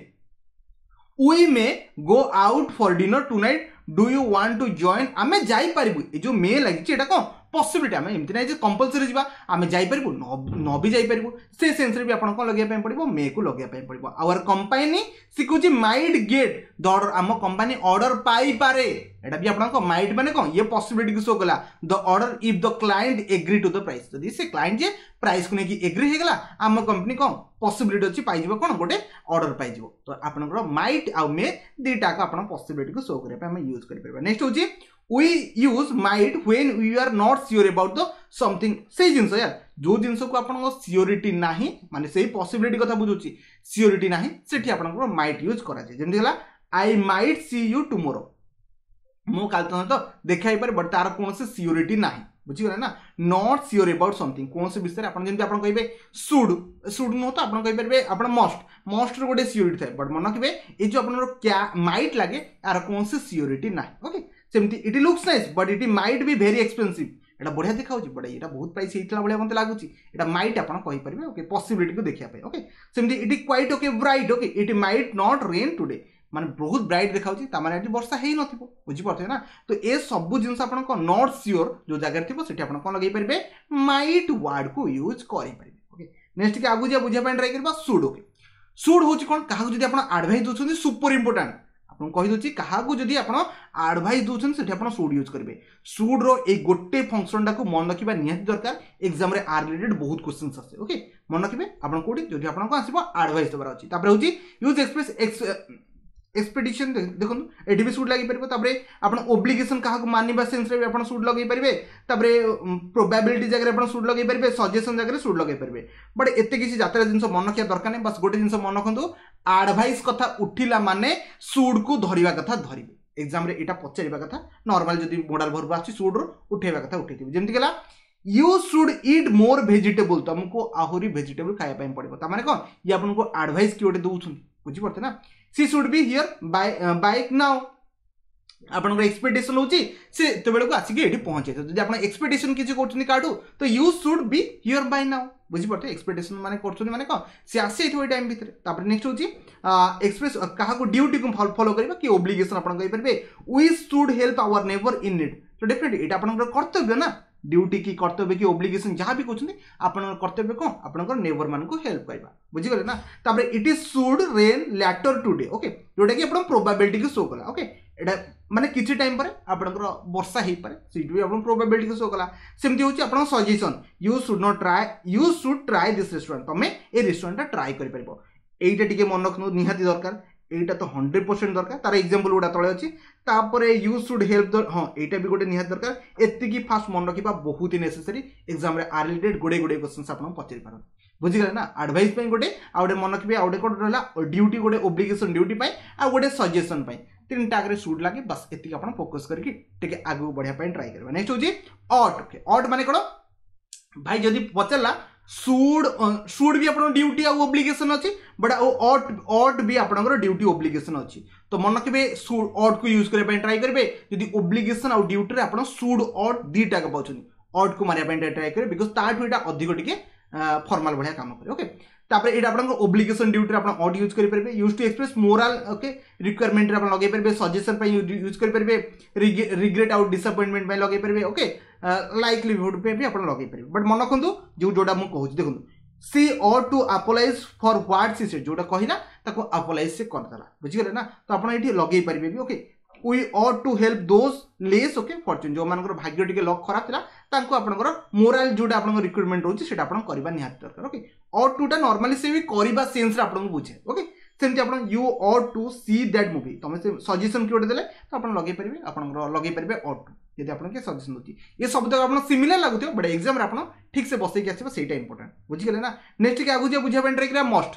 we may go out for dinner tonight, do you want to join? ଆମେ ଯାଇପାରିବୁ, ଏ ଯେଉଁ ମେ ଲାଗିଛି ଏଇଟା କ'ଣ ପସିବିଲିଟି। ଆମେ ଏମିତି ନାହିଁ ଯେ କମ୍ପଲସରି ଯିବା, ଆମେ ଯାଇପାରିବୁ ନ ବି ଯାଇପାରିବୁ, ସେ ସେନ୍ସରେ ବି ଆପଣ କ'ଣ ଲଗେଇବା ପାଇଁ ପଡ଼ିବ? ମେକୁ ଲଗେଇବା ପାଇଁ ପଡ଼ିବ। ଆୱାର କମ୍ପାନୀ ଶିଖୁଛି ମାଇଟ୍ ଗେଟ୍ ଦ ଅର୍ଡର, ଆମ କମ୍ପାନୀ ଅର୍ଡର ପାଇପାରେ। ଏଇଟା ବି ଆପଣଙ୍କ ମାଇଟ୍ ମାନେ କ'ଣ? ଇଏ ପସିବିଲିଟିକୁ ଶୋ କଲା। The order if the client agree to the price, ଯଦି ସେ କ୍ଲାଏଣ୍ଟ ଯେ ପ୍ରାଇସ୍କୁ ନେଇକି ଏଗ୍ରି ହେଇଗଲା, ଆମ କମ୍ପାନୀ କ'ଣ ପସିବିଲିଟି ଅଛି ପାଇଯିବ, କ'ଣ ଗୋଟେ ଅର୍ଡର ପାଇଯିବ। ତ ଆପଣଙ୍କର ମାଇଟ୍ ଆଉ ମେ ଦୁଇଟାକ ଆପଣ ପସିବିଲିଟିକୁ ଶୋ କରିବା ପାଇଁ ଆମେ ୟୁଜ୍ କରିପାରିବା। ନେକ୍ସଟ ହେଉଛି we use might when we are not sure about the something। ସେଇ ଜିନିଷ ୟାର, ଯେଉଁ ଜିନିଷକୁ ଆପଣଙ୍କ ସିଓରିଟି ନାହିଁ, ମାନେ ସେଇ ପସିବିଲିଟି କଥା ବୁଝୁଛି, ସିଓରିଟି ନାହିଁ, ସେଠି ଆପଣଙ୍କର ମାଇଟ୍ ୟୁଜ୍ କରାଯାଏ। ଯେମିତି ହେଲା I might see you tomorrow, ମୁଁ କାଲି ତମ ତ ଦେଖା ହେଇପାରେ, ବଟ୍ ତାର କୌଣସି ସିଓରିଟି ନାହିଁ। ବୁଝିଗଲେ ନା? Not sure about something, କୌଣସି ବିଷୟରେ ଆପଣ ଯେମିତି ଆପଣ କହିବେ should, should ନୁହଁ ତ ଆପଣ କହିପାରିବେ ଆପଣ ମଷ୍ଟ, ମଷ୍ଟର ଗୋଟେ ସିଓରିଟି ଥାଏ, ବଟ୍ ମନେ ରଖିବେ ଏଇ ଯେଉଁ ଆପଣଙ୍କର କ୍ୟା ମାଇଟ୍ ଲାଗେ ଆର କୌଣସି ସିଓରିଟି ନାହିଁ। ଓକେ, ସେମିତି it looks nice but it might be very expensive, ଏଇଟା ବଢ଼ିଆ ଦେଖାଉଛି ବଟ୍ ଏଇଟା ବହୁତ ପ୍ରାଇସ୍ ହେଇଥିଲା ଭଳିଆ ମୋତେ ଲାଗୁଛି, ଏଇଟା ମାଇଟ୍ ଆପଣ କହିପାରିବେ। ଓକେ, ପସିବିଲିଟିକୁ ଦେଖିବା ପାଇଁ। ଓକେ, ସେମିତି it quite okay bright, okay it might not rain today, ମାନେ ବହୁତ ବ୍ରାଇଟ୍ ଦେଖାଉଛି, ତାମାନେ ଆଜି ବର୍ଷା ହେଇନଥିବ। ବୁଝିପାରୁଥିବେ ନା? ତ ଏ ସବୁ ଜିନିଷ ଆପଣଙ୍କ not sure ଯେଉଁ ଜାଗାରେ ଥିବ ସେଠି ଆପଣ କ'ଣ ଲଗେଇ ପାରିବେ? ମାଇଟ୍ ୱାର୍ଡକୁ ୟୁଜ୍ କରିପାରିବେ। ଓକେ, ନେକ୍ସଟ ଟିକେ ଆଗକୁ ଯିବା, ବୁଝିବା ପାଇଁ ଟ୍ରାଏ କରିବା should. Okay, should ହେଉଛି କ'ଣ? କାହାକୁ ଯଦି ଆପଣ ଆଡ଼ଭାଇସ୍ ଦେଉଛନ୍ତି, ସୁପର ଇମ୍ପୋର୍ଟାଣ୍ଟ ଆପଣଙ୍କୁ କହିଦେଉଛି, କାହାକୁ ଯଦି ଆପଣ ଆଡ଼ଭାଇସ୍ ଦେଉଛନ୍ତି ସେଠି ଆପଣ should use କରିବେ। ସୁଡ୍ର ଏଇ ଗୋଟେ ଫଙ୍କସନ୍ଟାକୁ ମନେ ରଖିବା ନିହାତି ଦରକାର, ଏକ୍ଜାମ୍ରେ ଆର୍ ରିଲେଟେଡ୍ ବହୁତ କ୍ୱେଶ୍ଚନ୍ସ ଆସେ। ଓକେ, ମନେ ରଖିବେ ଆପଣ କେଉଁଠି ଯଦି ଆପଣଙ୍କୁ ଆସିବ ଆଡ଼ଭାଇସ୍ ଦେବାର ଅଛି। ତାପରେ ହେଉଛି ୟୁଜ୍ ଏକ୍ସପ୍ରେସ୍ ଏକ୍ସପେକ୍ଟେସନ୍, ଦେଖନ୍ତୁ ଏଠି ବି ସୁଡ୍ ଲାଗିପାରିବ। ତାପରେ ଆପଣ ଓବ୍ଲିଗେସନ୍ କାହାକୁ ମାନିବା ସେନ୍ସରେ ବି ଆପଣ ସୁଡ୍ ଲଗେଇ ପାରିବେ। ତାପରେ ପ୍ରୋବାବିଲିଟି ଜାଗାରେ ଆପଣ ସୁଡ୍ ଲଗେଇ ପାରିବେ, ସଜେସନ୍ ଜାଗାରେ ସୁଡ୍ ଲଗେଇ ପାରିବେ। ବଟ୍ ଏତେ କିଛି ଯାତ୍ରା ଜିନିଷ ମନେ ରଖିବା ଦରକାର ନାହିଁ, ବାସ୍ ଗୋଟେ ଜିନିଷ ମନେ ରଖନ୍ତୁ, ଆଡ଼ଭାଇସ୍ କଥା ଉଠିଲା ମାନେ ସୁଡ୍କୁ ଧରିବା କଥା ଧରିବେ। ଏକ୍ଜାମ୍ରେ ଏଇଟା ପଚାରିବା କଥା, ନର୍ମାଲ ଯଦି ମୋଡାଲ ଭର୍ବ ଆସୁଛି ସୁଡ୍ରୁ ଉଠେଇବା କଥା ଉଠେଇଥିବେ। ଯେମିତି ହେଲା you should eat more vegetable, ତୁମକୁ ଆହୁରି ଭେଜିଟେବୁଲ୍ ଖାଇବା ପାଇଁ ପଡ଼ିବ। ତାମାନେ କ'ଣ? ଇଏ ଆପଣଙ୍କୁ ଆଡ଼ଭାଇସ୍ କି ଗୋଟେ ଦେଉଛନ୍ତି, ବୁଝିପାରୁଥିବେ ନା? She should be here by now, ଆପଣଙ୍କର ଏକ୍ସପେକ୍ଟେସନ୍ ହେଉଛି ସେ ଏତେବେଳକୁ ଆସିକି ଏଠି ପହଞ୍ଚାଇଥିବ। ଯଦି ଆପଣ ଏକ୍ସପେକ୍ଟେସନ୍ କିଛି କରୁଛନ୍ତି କାହାଠୁ, ତ you should be here by now, ବୁଝିପାରୁଥିବେ? ଏକ୍ସପେକ୍ଟେସନ୍ ମାନେ କରୁଛନ୍ତି ମାନେ କ'ଣ ସେ ଆସିଯାଇଥିବ ଏଇ ଟାଇମ୍ ଭିତରେ। ତାପରେ ନେକ୍ସଟ ହେଉଛି ଏକ୍ସପ୍ରେସ୍ କାହାକୁ ଡ୍ୟୁଟିକୁ ଫଲୋ କରିବା କି ଓବ୍ଲିଗେସନ୍ ଆପଣ କହିପାରିବେ। We should help our neighbour in need, ତ ଡେଫିନେଟଲି ଏଇଟା ଆପଣଙ୍କର କର୍ତ୍ତବ୍ୟ ନା, ଡ୍ୟୁଟି କି କର୍ତ୍ତବ୍ୟ କି ଓବ୍ଲିଗେସନ୍ ଯାହା ବି କହୁଛନ୍ତି, ଆପଣଙ୍କର କର୍ତ୍ତବ୍ୟ କ'ଣ? ଆପଣଙ୍କର ନେବର ମାନଙ୍କୁ ହେଲ୍ପ କରିବା। ବୁଝିଗଲେ ନା? ତାପରେ it is should rain later today, okay, ଯେଉଁଟାକି ଆପଣ ପ୍ରୋବାବିଲିଟିକୁ ଶୋ କଲା। ଓକେ, ଏଇଟା ମାନେ କିଛି ଟାଇମ୍ ପରେ ଆପଣଙ୍କର ବର୍ଷା ହେଇପାରେ, ସେଇଠୁ ବି ଆପଣ ପ୍ରୋବାବିଲିଟିକୁ ଶୋ କଲା। ସେମିତି ହେଉଛି ଆପଣଙ୍କ suggestion, you should not try, you should try this restaurant, ତମେ ଏ ରେଷ୍ଟୁରାଣ୍ଟଟା ଟ୍ରାଏ କରିପାରିବ। ଏଇଟା ଟିକେ ମନେ ରଖନ୍ତୁ ନିହାତି ଦରକାର, ଏଇଟା ତ 100% ଦରକାର, ତାର ଏକ୍ଜାମ୍ପଲ୍ ଗୁଡ଼ା ତଳେ ଅଛି। ତାପରେ you should help ଦ, ହଁ ଏଇଟା ବି ଗୋଟେ ନିହାତି ଦରକାର। ଏତିକି ଫାଷ୍ଟ ମନେ ରଖିବା ବହୁତ ହି ନେସେସରି, ଏକ୍ଜାମ୍ରେ ଆର୍ ରିଲେଟେଡ୍ ଗୁଡ଼େ ଗୁଡ଼େ କ୍ୱେଶ୍ଚନ୍ସ ଆପଣଙ୍କୁ ପଚାରି ପାରନ୍ତି। ବୁଝିଗଲେ ନା? ଆଡ଼ଭାଇସ୍ ପାଇଁ ଗୋଟେ, ଆଉ ଗୋଟେ ମନେ ରଖିବେ, ଆଉ ଗୋଟେ କ'ଣ ରହିଲା ଡ୍ୟୁଟି, ଗୋଟେ ଓବ୍ଲିଗେସନ୍ ଡ୍ୟୁଟି ପାଇଁ, ଆଉ ଗୋଟେ ସଜେସନ୍ ପାଇଁ, ତିନିଟା ଆଗରେ should ଲାଗେ। ବାସ୍ ଏତିକି ଆପଣ ଫୋକସ୍ କରିକି ଟିକେ ଆଗକୁ ବଢ଼ିବା ପାଇଁ ଟ୍ରାଏ କରିବା। ନେକ୍ସଟ ହେଉଛି ଅଟ୍। ଓକେ, ଅଟ୍ ମାନେ କ'ଣ ଭାଇ? ଯଦି ପଚାରିଲା should, should ବି ଆପଣଙ୍କ ଡ୍ୟୁଟି ଆଉ ଓବ୍ଲିଗେସନ୍ ଅଛି, ବଟ୍ ଆଉ ଅଟ୍, ଅଟ୍ ବି ଆପଣଙ୍କର ଡ୍ୟୁଟି ଓବ୍ଲିଗେସନ୍ ଅଛି। ତ ମନେ ରଖିବେ ଅଟ୍କୁ ୟୁଜ୍ କରିବା ପାଇଁ ଟ୍ରାଏ କରିବେ। ଯଦି ଓବ୍ଲିଗେସନ୍ ଆଉ ଡ୍ୟୁଟିରେ ଆପଣ should ଅଟ୍ ଦୁଇଟାକ ପାଉଛନ୍ତି, ଅଟ୍କୁ ମାରିବା ପାଇଁ ଟ୍ରାଏ କରିବେ, because ତାଠୁ ଏଇଟା ଅଧିକ ଟିକେ ଫର୍ମାଲ ଭଳିଆ କାମ କରେ। ଓକେ, ତାପରେ ଏଇଟା ଆପଣଙ୍କ ଓବ୍ଲିଗେସନ୍ ଡ୍ୟୁଟିରେ ଆପଣ ଅଟ୍ ୟୁଜ୍ କରିପାରିବେ। Use to express moral, okay, ରିକ୍ୱାରମେଣ୍ଟରେ ଆପଣ ଲଗେଇ ପାରିବେ, ସଜେସନ୍ ପାଇଁ ୟୁଜ୍ କରିପାରିବେ, ରିଗ୍ରେଟ୍ ଆଉ ଡିସଆପଏଣ୍ଟମେଣ୍ଟ ପାଇଁ ଲଗେଇ ପାରିବେ। ଓକେ, ଲାଇକଲିହୁଡ୍ ପାଇଁ ବି ଆପଣ ଲଗେଇ ପାରିବେ। ବଟ୍ ମନେ ରଖନ୍ତୁ ଯେଉଁଟା ମୁଁ କହୁଛି, ଦେଖନ୍ତୁ she ought to apologise for what she said, ଯେଉଁଟା କହିଲା ତାକୁ ଆପୋଲାଇଜ୍ ସେ କରିଦେଲା। ବୁଝିଗଲେ ନା? ତ ଆପଣ ଏଇଠି ଲଗେଇ ପାରିବେ ବି। Okay, we ought to help those less okay fortune, ଯେଉଁମାନଙ୍କର ଭାଗ୍ୟ ଟିକେ ଲକ୍ ଖରାପ ଥିଲା ତାଙ୍କୁ ଆପଣଙ୍କର ମୋରାଲ ଯେଉଁଟା ଆପଣଙ୍କ ରିକ୍ରୁଟମେଣ୍ଟ ରହୁଛି ସେଇଟା ଆପଣ କରିବା ନିହାତି ଦରକାର। ଓକେ, ଅଟ୍ ଟୁଟା ନର୍ମାଲି ସେ ବି କରିବା ସେନ୍ସରେ ଆପଣଙ୍କୁ ବୁଝେ। ଓକେ, ସେମିତି ଆପଣ you ought to see that movie, ତୁମେ ସେ ସଜେସନ୍ କି ଗୋଟେ ଦେଲେ ତ ଆପଣ ଲଗେଇ ପାରିବେ, ଆପଣଙ୍କର ଲଗେଇ ପାରିବେ ଅଟ୍ ଟୁ ଯଦି ଆପଣ କିଏ ସଜେସନ୍ ଦେଉଛି। ଏ ସବୁତକ ଆପଣ ସିମିଲାର ଲାଗୁଥିବ, ବଟ୍ ଏକ୍ଜାମ୍ରେ ଆପଣ ଠିକ୍ ସେ ବସେଇକି ଆସିବ, ସେଇଟା ଇମ୍ପୋର୍ଟାଣ୍ଟ। ବୁଝିଗଲେ ନା? ନେକ୍ସଟ ଟିକେ ଆଗକୁ ଯିବା, ବୁଝିବା ପାଇଁ ଟ୍ରାଏ କରିବା ମଷ୍ଟ।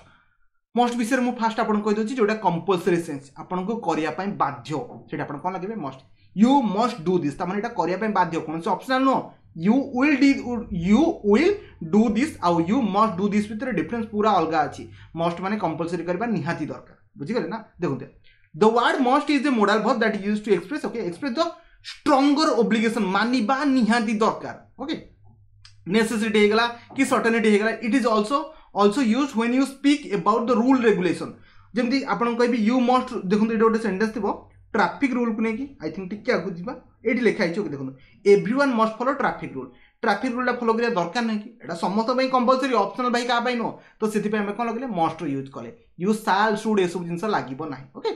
ମଷ୍ଟ ବିଷୟରେ ମୁଁ ଫାଷ୍ଟ ଆପଣଙ୍କୁ କହିଦେଉଛି, ଯେଉଁଟା କମ୍ପଲସରି ସେନ୍ସ ଆପଣଙ୍କୁ କରିବା ପାଇଁ ବାଧ୍ୟ, ସେଇଟା ଆପଣ କ'ଣ ଲଗେଇବେ? Must. You must do this, ତାମାନେ ଏଇଟା କରିବା ପାଇଁ ବାଧ୍ୟ, କୌଣସି ଅପସନାଲ ନୁହଁ, You will d you will do this ଆଉ you must do this ଭିତରେ ଡିଫରେନ୍ସ ପୁରା ଅଲଗା ଅଛି। ମଷ୍ଟ ମାନେ କମ୍ପଲସରି କରିବା ନିହାତି ଦରକାର, ବୁଝିଗଲେ ନା? ଦେଖନ୍ତୁ, the word must is a modal verb that use to express, okay, express the stronger obligation, ମାନିବା ନିହାତି ଦରକାର, ଓକେ, ନେସେସିଟି ହେଇଗଲା କି ସର୍ଟେନିଟି ହେଇଗଲା। It is also use when you speak about the rule regulation. ଯେମିତି ଆପଣଙ୍କୁ କହିବି you ମଷ୍ଟ, ଦେଖନ୍ତୁ ଏଇଟା ଗୋଟେ ସେଣ୍ଟେନ୍ସ ଥିବ ଟ୍ରାଫିକ୍ ରୁଲ୍କୁ ନେଇକି, I think ଟିକେ ଆଗକୁ ଯିବା, ଏଇଠି ଲେଖା ହେଇଛି, ଓକେ, ଦେଖନ୍ତୁ, everyone must follow traffic rule. Traffic ରୁଲ୍ଟା follow କରିବା ଦରକାର ନାହିଁ କି? ଏଇଟା ସମସ୍ତଙ୍କ ପାଇଁ କମ୍ପଲସରି, ଅପସନାଲ୍ ଭାଇ କାହା ପାଇଁ ନୁହଁ। ତ ସେଥିପାଇଁ ଆମେ କ'ଣ ଲଗେଇଲେ? ମଷ୍ଟ ୟୁଜ୍ କଲେ। You ସାଲ୍ should ଏସବୁ ଜିନିଷ ଲାଗିବ ନାହିଁ, okay,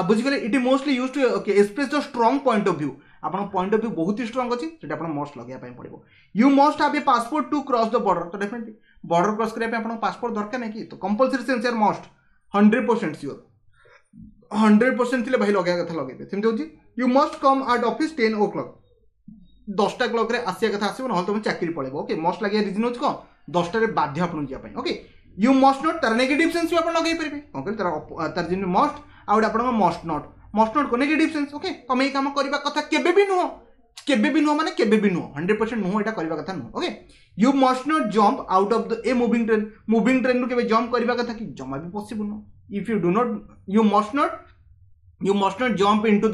ବୁଝିଗଲେ? It mostly use to, okay, express the strong point of view. ଆପଣଙ୍କ ପଏଣ୍ଟ ଅଫ୍ ଭ୍ୟୁ ବହୁତ ହି ଷ୍ଟ୍ରଙ୍ଗ ଅଛି, ସେଟା ଆପଣ ମଷ୍ଟ ଲଗେଇବା ପାଇଁ ପଡ଼ିବ। You must have a passport to cross the border. ତ ଡେଫିନେଟଲି ବର୍ଡର କ୍ରସ୍ କରିବା ପାଇଁ ଆପଣଙ୍କ ପାସପୋର୍ଟ ଦରକାର ନାହିଁ କି? ତ କମ୍ପଲସରି ସେନ୍ସ ମଷ୍ଟ, 100% ସିଓର, 100% ଥିଲେ ଭାଇ ଲଗେଇବା କଥା ଲଗେଇବେ। ସେମିତି ହେଉଛି you must come at office 10 o'clock. 10ଟା କ୍ଲକ୍ରେ ଆସିବା କଥା ଆସିବ, ନହେଲେ ତୁମେ ଚାକିରି ପଳେଇବ। ଓକେ, ମଷ୍ଟ ଲାଗିବା ରିଜନ୍ ହେଉଛି କ'ଣ? 10ଟାରେ ବାଧ୍ୟ ଆପଣଙ୍କୁ ଯିବା ପାଇଁ। ଓକେ, you ମଷ୍ଟ not ତାର ନେଗେଟିଭ୍ ସେନ୍ସ ବି ଆପଣ ଲଗେଇ ପାରିବେ। କ'ଣ କହିଲେ? ତାର ଯେମିତି ମଷ୍ଟ ଆଉ ଗୋଟେ ଆପଣଙ୍କ ମଷ୍ଟ not. Must not negative sense, okay, ତମେ ଏଇ କାମ କରିବା କଥା କେବେ ବି ନୁହଁ, କେବେ ବି ନୁହଁ ମାନେ କେବେ ବି ନୁହଁ, 100% ନୁହଁ, ଏଇଟା କରିବା କଥା ନୁହଁ। Okay, you must not jump out of the a moving train. Moving ଟ୍ରେନ୍ରୁ କେବେ ଜମ୍ପ କରିବା କଥା କି? ଜମା ବି ପସିବଲ୍ ନୁହଁ। If you do not, you must not jump into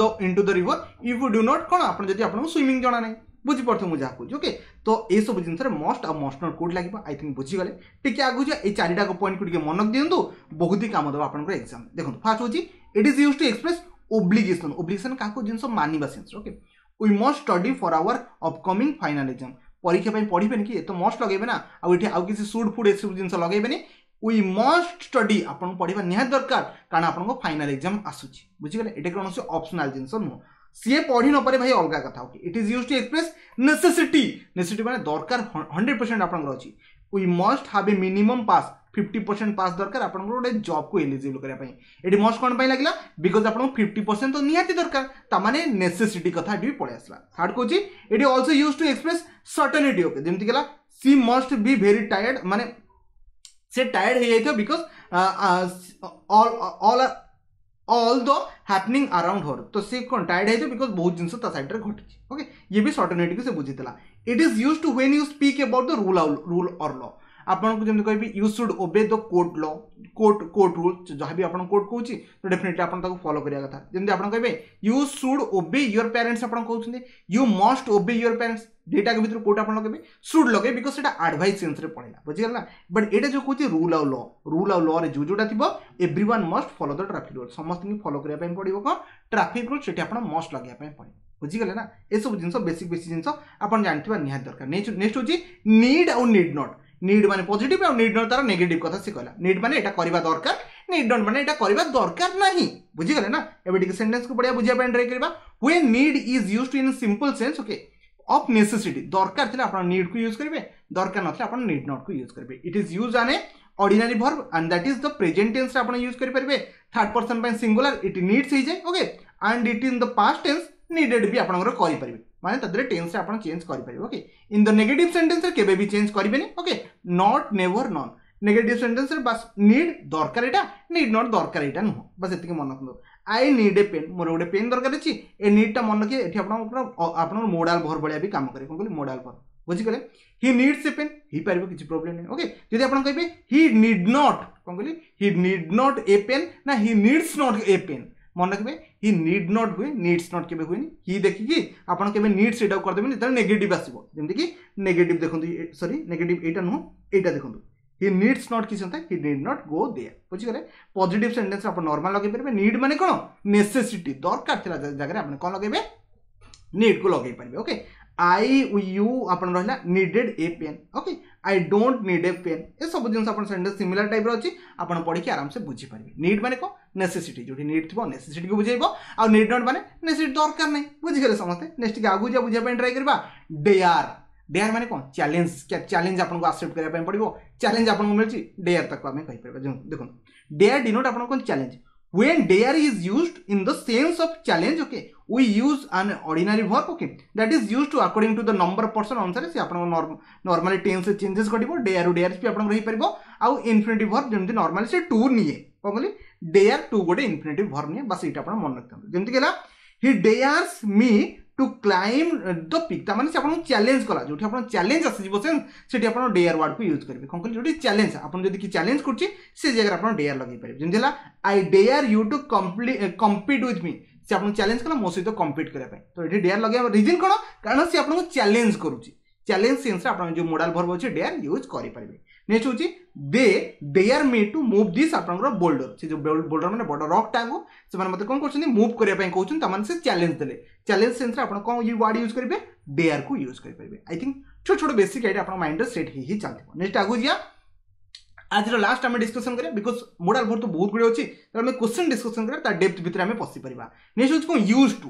the river if you do not କ'ଣ ଆପଣ ଯଦି ଆପଣଙ୍କୁ ସୁଇମିଂ ଜଣା ନାହିଁ। ବୁଝିପାରୁଥିବେ ମୁଁ ଯାହା କହୁଛି? ଓକେ, ତ ଏସବୁ ଜିନିଷରେ ମଷ୍ଟ ଆଉ ମଷ୍ଟ not କେଉଁଠି ଲାଗିବ I think ବୁଝିଗଲେ। ଟିକେ ଆଗକୁ ଯିବା, ଏଇ ଚାରିଟା ପଏଣ୍ଟକୁ ଟିକେ ମନେ ଦିଅନ୍ତୁ, ବହୁତ ହି କାମ ଦେବ ଆପଣଙ୍କର ଏକ୍ସାମ୍। ଦେଖନ୍ତୁ, ଫାର୍ଷ୍ଟ ହେଉଛି it is use to express obligation. Obligation କାହାକୁ ଜିନିଷ ମାନିବା sense. Okay, we must study for our upcoming final exam. ପରୀକ୍ଷା ପାଇଁ ପଢ଼ିବେନି କି? ଏ ତ ମଷ୍ଟ ଲଗେଇବେ ନା, ଆଉ ଏଠି ଆଉ କିଛି should food ଏସବୁ ଜିନିଷ ଲଗେଇବେନି। We ମଷ୍ଟ ଷ୍ଟଡି, ଆପଣଙ୍କୁ ପଢ଼ିବା ନିହାତି ଦରକାର, କାରଣ ଆପଣଙ୍କ ଫାଇନାଲ ଏକ୍ଜାମ୍ ଆସୁଛି। ବୁଝିଗଲେ? ଏଇଟା କୌଣସି ଅପସନାଲ ଜିନିଷ ନୁହଁ। ସିଏ ପଢ଼ି ନପାରେ ଭାଇ ଅଲଗା କଥା। Okay, it is use to express necessity. Necessity ମାନେ ଦରକାର, 100% ଆପଣଙ୍କର ଅଛି। We must have a minimum pass, 50% pass ଦରକାର ଆପଣଙ୍କର ଗୋଟେ ଜବ୍କୁ ଏଲିଜିବଲ୍ କରିବା ପାଇଁ। ଏଠି ମଷ୍ଟ କ'ଣ ପାଇଁ ଲାଗିଲା? Because ଆପଣଙ୍କୁ 50% ତ ନିହାତି ଦରକାର, ତାମାନେ ନେସେସିଟି କଥା ଏଠି ବି ପଳେଇ ଆସିଲା। ଥାର୍ଡ କହୁଛି ଏଠି also use to express certainty. Okay, ଯେମିତି ହେଲା she must be very tired, ମାନେ ସେ ଟାୟାର୍ଡ ହେଇଯାଇଥିବ because all the happening around her. ତ ସେ କ'ଣ ଟାୟାର୍ଡ ହେଇଥିବ because ବହୁତ ଜିନିଷ ତା ସାଇଡ଼୍ରେ ଘଟିଛି। ଓକେ, ଇଏ ବି ସର୍ଟେନିଟିକୁ ସେ ବୁଝିଥିଲା। It is use to when you speak about the rule or law. ଆପଣଙ୍କୁ ଯେମିତି କହିବି you should obey the court law, court rule, ଯାହା ବି ଆପଣ କୋର୍ଟ କହୁଛି ତ ଡେଫିନେଟଲି ଆପଣ ତାକୁ ଫଲୋ କରିବା କଥା। ଯେମିତି ଆପଣ କହିବେ you should obey your parents, ଆପଣ କହୁଛନ୍ତି you must obey your parents, ଦୁଇଟାକ ଭିତରୁ କୋଉଟା ଆପଣ ଲଗେଇବେ? Should ଲଗେଇବେ, because ସେଇଟା ଆଡଭାଇସ୍ ସେନ୍ସରେ ପଳେଇଲା। ବୁଝିଗଲା ନା? ବଟ୍ ଏଇଟା ଯେଉଁ କହୁଛି ରୁଲ୍ ଆଉ ଲ, ରୁଲ୍ ଆଉ ଲରେ ଯେଉଁ ଯେଉଁଟା ଥିବ, everyone must follow the traffic rule, ସମସ୍ତଙ୍କୁ ଫଲୋ କରିବା ପାଇଁ ପଡ଼ିବ କ'ଣ? Traffic rule. ସେଠି ଆପଣ ମଷ୍ଟ ଲଗେଇବା ପାଇଁ ପଡ଼ିବ। ବୁଝିଗଲେ ନା? ଏସବୁ ଜିନିଷ ବେସିକ୍ ବେସିକ୍ ଜିନିଷ ଆପଣ ଜାଣିଥିବା ନିହାତି ଦରକାର। ନେକ୍ସଟ ହେଉଛି ନିଡ୍ ଆଉ ନିଡ୍ not. Need ମାନେ ପଜିଟିଭ୍ ଆଉ ନିଡ୍ not ତାର ନେଗେଟିଭ୍ କଥା ସେ କହିଲା। ନିଡ୍ ମାନେ ଏଇଟା କରିବା ଦରକାର, ନିଡ୍ not ମାନେ ଏଇଟା କରିବା ଦରକାର ନାହିଁ। ବୁଝିଗଲେ ନା? ଏବେ ଟିକେ ସେଣ୍ଟେନ୍ସକୁ ପଢ଼ିବା, ବୁଝିବା ପାଇଁ ଟ୍ରାଏ କରିବା। When need is used in simple sense, okay, of necessity, ଦରକାର ଥିଲେ ଆପଣ ନିଡ୍କୁ ୟୁଜ୍ କରିବେ, ଦରକାର ନଥିଲେ ଆପଣ ନିଡ୍ ନଟ୍କୁ ୟୁଜ୍ କରିବେ। It is use an a ordinary verb and that is the present ଟେନ୍ସରେ ଆପଣ ୟୁଜ୍ କରିପାରିବେ। ଥାର୍ଡ ପର୍ସନ ପାଇଁ ସିଙ୍ଗୁଲାର ଇଟ୍ ନିଡ୍ସ ହେଇଯାଏ, okay, and it in the past tense needed ବି ଆପଣଙ୍କର କରିପାରିବେ, ମାନେ ତା ଦେହରେ ଟେନ୍ସରେ ଆପଣ ଚେଞ୍ଜ କରିପାରିବେ। ଓକେ, ଇନ୍ the negative ସେଣ୍ଟେନ୍ସରେ କେବେ ବି ଚେଞ୍ଜ କରିବେନି। Okay, not, never, none. Negative ସେଣ୍ଟେନ୍ସରେ ବାସ୍ ନିଡ୍ ଦରକାର ଏଇଟା, ନିଡ୍ not ଦରକାର ଏଇଟା ନୁହଁ, ବାସ୍ ଏତିକି ମନେ ରଖନ୍ତୁ। I need a pen, ମୋର ଗୋଟେ ପେନ୍ ଦରକାର ଅଛି। ଏ ନିଡ୍ଟା ମନେ ରଖିବେ, ଏଠି ଆପଣଙ୍କର ଆପଣଙ୍କର ମୋଡାଲ ଭର୍ବ ଭଳିଆ ବି କାମ କରେ। କ'ଣ କହିଲି? Modal verb. ବୁଝିଗଲେ? He needs a pen ହେଇପାରିବ, କିଛି ପ୍ରୋବ୍ଲେମ୍ ନାହିଁ। ଓକେ, ଯଦି ଆପଣ କହିବେ he need not, କ'ଣ କହିଲି? He need not a pen ନା he needs not a pen? ମନେ ରଖିବେ, he need not ହୁଏ, ନିଡ୍ସ not କେବେ ହୁଏନି। ହି ଦେଖିକି ଆପଣ କେବେ ନିଡ୍ସ ଏଇଟାକୁ କରିଦେବେନି ଯେତେବେଳେ ନେଗେଟିଭ୍ ଆସିବ। ଯେମିତିକି ନେଗେଟିଭ୍ ଦେଖନ୍ତୁ, ସରି, ନେଗେଟିଭ୍ ଏଇଟା ନୁହଁ, ଏଇଟା ଦେଖନ୍ତୁ, ହି ନିଡ୍ସ not କିଛି ନଥାଏ, he need not go there. ବୁଝିଗଲେ? ପଜିଟିଭ୍ ସେଣ୍ଟେନ୍ସ ଆପଣ ନର୍ମାଲ ଲଗେଇ ପାରିବେ। ନିଡ୍ ମାନେ କ'ଣ? ନେସେସିଟି, ଦରକାର ଥିଲା ଜାଗାରେ ଆପଣ କ'ଣ ଲଗେଇବେ? ନିଡ୍କୁ ଲଗେଇ ପାରିବେ। ଓକେ, I, you ଆପଣ ରହିଲା needed a pen. Okay, I don't need a pen. ଏସବୁ ଜିନିଷ ଆପଣ ସେଣ୍ଟେନ୍ସ ସିମିଲାର ଟାଇପ୍ର ଅଛି, ଆପଣ ପଢ଼ିକି ଆରାମସେ ବୁଝିପାରିବେ। ନିଡ୍ ମାନେ କ'ଣ? ନେସେସିଟି। ଯେଉଁଠି ନିଡ୍ ଥିବ ନେସେସିଟିକୁ ବୁଝେଇବ, ଆଉ ନିଡ୍ not ମାନେ ନେସେସିଟି ଦରକାର ନାହିଁ। ବୁଝିଗଲେ ସମସ୍ତେ? ନେକ୍ସଟ ଟିକେ ଆଗକୁ ଯିବା, ବୁଝିବା ପାଇଁ ଟ୍ରାଏ କରିବା। ଡେୟାର। ଡେୟାର ମାନେ କ'ଣ? ଚ୍ୟାଲେଞ୍ଜ। ଚ୍ୟାଲେଞ୍ଜ ଆପଣଙ୍କୁ ଆକ୍ସେପ୍ଟ କରିବା ପାଇଁ ପଡ଼ିବ, ଚ୍ୟାଲେଞ୍ଜ ଆପଣଙ୍କୁ ମିଳୁଛି, ଡେୟାର ତାକୁ ଆମେ କହିପାରିବା। ଦେଖନ୍ତୁ, ଡେୟାର ଡିନୋଟ୍ ଆପଣଙ୍କୁ କ'ଣ? Challenge. When dare is used in the sense of challenge, okay, we use an ordinary verb, okay, that is used to according to the number of person ଅନୁସାରେ ସେ ଆପଣଙ୍କ ନର୍ମାଲି ଟେନ୍ସ ଚେଞ୍ଜେସ୍ ଘଟିବ। ଡେୟାର ଡେୟାର ବି ଆପଣଙ୍କର ହେଇପାରିବ, ଆଉ ଇନଫିନିଟିଭ୍ ଭର୍ବ ଯେମିତି ନର୍ମାଲି ସେ ଟୁ ନିଏ। କ'ଣ କହିଲି? ଡେୟାର ଟୁ ଗୋଟେ ଇନଫିନିଟିଭ୍ ଭର୍ବ ନିଏ, ବାସ୍ ଏଇଟା ଆପଣ ମନେ ରଖିଥାନ୍ତୁ। ଯେମିତି ହେଲା he dares me to climb the peak. ତାମାନେ ସେ ଆପଣଙ୍କୁ ଚ୍ୟାଲେଞ୍ଜ କଲା, ଯେଉଁଠି ଆପଣ ଚ୍ୟାଲେଞ୍ଜ ଆସିଯିବ ସେଠି ଆପଣ ଡେୟାର ୱାର୍ଡକୁ ୟୁଜ୍ କରିବେ। କ'ଣ କହିଲେ? ଯେଉଁଠି ଚ୍ୟାଲେଞ୍ଜ, ଆପଣ ଯଦି କି ଚ୍ୟାଲେଞ୍ଜ କରୁଛି ସେ ଜାଗାରେ ଆପଣ ଡେୟାର ଲଗେଇ ପାରିବେ। ଯେମିତି ହେଲା I dare you to compete with me. ସେ ଆପଣଙ୍କୁ ଚ୍ୟାଲେଞ୍ଜ କଲା ମୋ ସହିତ କମ୍ପିଟ୍ କରିବା ପାଇଁ। ତ ଏଠି ଡେୟାର ଲଗେଇବା ରିଜନ୍ କ'ଣ? କାରଣ ସେ ଆପଣଙ୍କୁ ଚ୍ୟାଲେଞ୍ଜ କରୁଛି। ଚ୍ୟାଲେଞ୍ଜ ସେନ୍ସରେ ଆପଣ ଯେଉଁ ମୋଡାଲ ଭର୍ବ ଅଛି ଡେୟାର ୟୁଜ୍ କରିପାରିବେ। ନେକ୍ସଟ ହେଉଛି they dare me to move this ଆପଣଙ୍କର ବୋଲ୍ଡର। ସେ ଯେଉଁ ବୋଲ୍ଡର ମାନେ ବଡ଼ ରକ୍ଟାକୁ ସେମାନେ ମୋତେ କ'ଣ କରୁଛନ୍ତି, ମୁଭ୍ କରିବା ପାଇଁ କହୁଛନ୍ତି। ତାମାନେ ସେ ଚ୍ୟାଲେଞ୍ଜ ଦେଲେ। ଚ୍ୟାଲେଞ୍ଜ ସେନ୍ସରେ ଆପଣ କ'ଣ ୱାର୍ଡ ୟୁଜ୍ କରିବେ? ଡେୟାରକୁ ୟୁଜ୍ କରିପାରିବେ। I think ଛୋଟ ଛୋଟ ବେସିକ୍ ଆଇଡ଼ିଆ ଆପଣଙ୍କ ମାଇଣ୍ଡରେ ସେଟ୍ ହେଇ ହେଇ ଚାଲିଥିବ। ନେକ୍ସଟ ଆଗକୁ ଯିବା, ଆଜିର ଲାଷ୍ଟ ଆମେ ଡିସ୍କସନ୍ କରିବା, because modal verb ତ ବହୁତ ଗୁଡ଼ିଏ ଅଛି, ତ ଆମେ କ୍ୱେଶ୍ଚନ୍ ଡିସ୍କସନ୍ କରିବା, ତା ଡେପ୍ଥ ଭିତରେ ଆମେ ପଶିପାରିବା। ନେକ୍ସଟ ହେଉଛି କ'ଣ? Use to.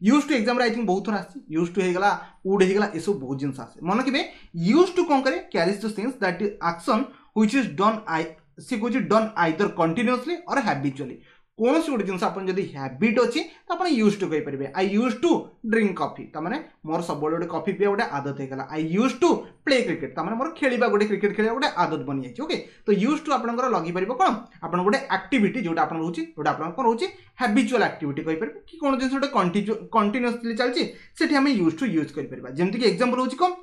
Use to ଏକ୍ଜାମ୍ରେ I think ବହୁତ ଥର ଆସିଛି। ୟୁଜ୍ ଟୁ ହେଇଗଲା, ଉଡ୍ ହେଇଗଲା, ଏସବୁ ବହୁତ ଜିନିଷ ଆସେ। ମନେ ରଖିବେ, ୟୁଜ୍ ଟୁ କ'ଣ କରେ? Carries the sense that action which is done, I ସେ କହୁଛି done either continuously or habitually. କୌଣସି ଗୋଟେ ଜିନିଷ ଆପଣ ଯଦି ହ୍ୟାବିଟ୍ ଅଛି ତ ଆପଣ ୟୁଜ୍ ଟୁ କହିପାରିବେ। I use to drink coffee, ତାମାନେ ମୋର ସବୁବେଳେ ଗୋଟେ କଫି ପିଇବା ଗୋଟେ ଆଦତ ହେଇଗଲା। I use to play cricket, ତାମାନେ ମୋର ଖେଳିବା ଗୋଟେ କ୍ରିକେଟ୍ ଖେଳିବା ଗୋଟେ ଆଦତ ବନିଯାଇଛି। ଓକେ, ତ ୟୁଜ୍ ଟୁ ଆପଣଙ୍କର ଲଗେଇପାରିବ କ'ଣ? ଆପଣ ଗୋଟେ ଆକ୍ଟିଭିଟି ଯେଉଁଟା ଆପଣ ରହୁଛି, ଯେଉଁଟା ଆପଣଙ୍କର କ'ଣ ରହୁଛି, ହ୍ୟାବିଚୁଆଲ୍ ଆକ୍ଟିଭିଟି କହିପାରିବେ, କି କ'ଣ ଜିନିଷ ଗୋଟେ କଣ୍ଟିନ୍ୟୁଅସଲି ଚାଲିଛି, ସେଠି ଆମେ ୟୁଜ୍ ଟୁ ୟୁଜ୍ କରିପାରିବା। ଯେମିତିକି ଏକ୍ଜାମ୍ପଲ୍ ହେଉଛି କ'ଣ?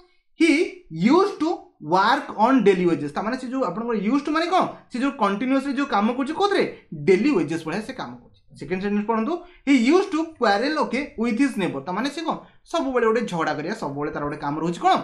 He use to work on daily wages. ତାମାନେ ସେ ଯେଉଁ ଆପଣଙ୍କର ୟୁଜ୍ ଟୁ ମାନେ କ'ଣ, ସେ ଯେଉଁ କଣ୍ଟିନ୍ୟୁଅସଲି ଯେଉଁ କାମ କରୁଛି କେଉଁଥିରେ, ଡେଲି ୱେଜେସ୍ ଭଳିଆ ସେ କାମ କରୁଛି। ସେକେଣ୍ଡ ସେଣ୍ଟେନ୍ସ ପଢ଼ନ୍ତୁ, he use to quarrel okay with his neighbour. ତାମାନେ ସେ କ'ଣ ସବୁବେଳେ ଗୋଟେ ଝଗଡ଼ା କରିବା, ସବୁବେଳେ ତାର ଗୋଟେ କାମ ରହୁଛି କ'ଣ,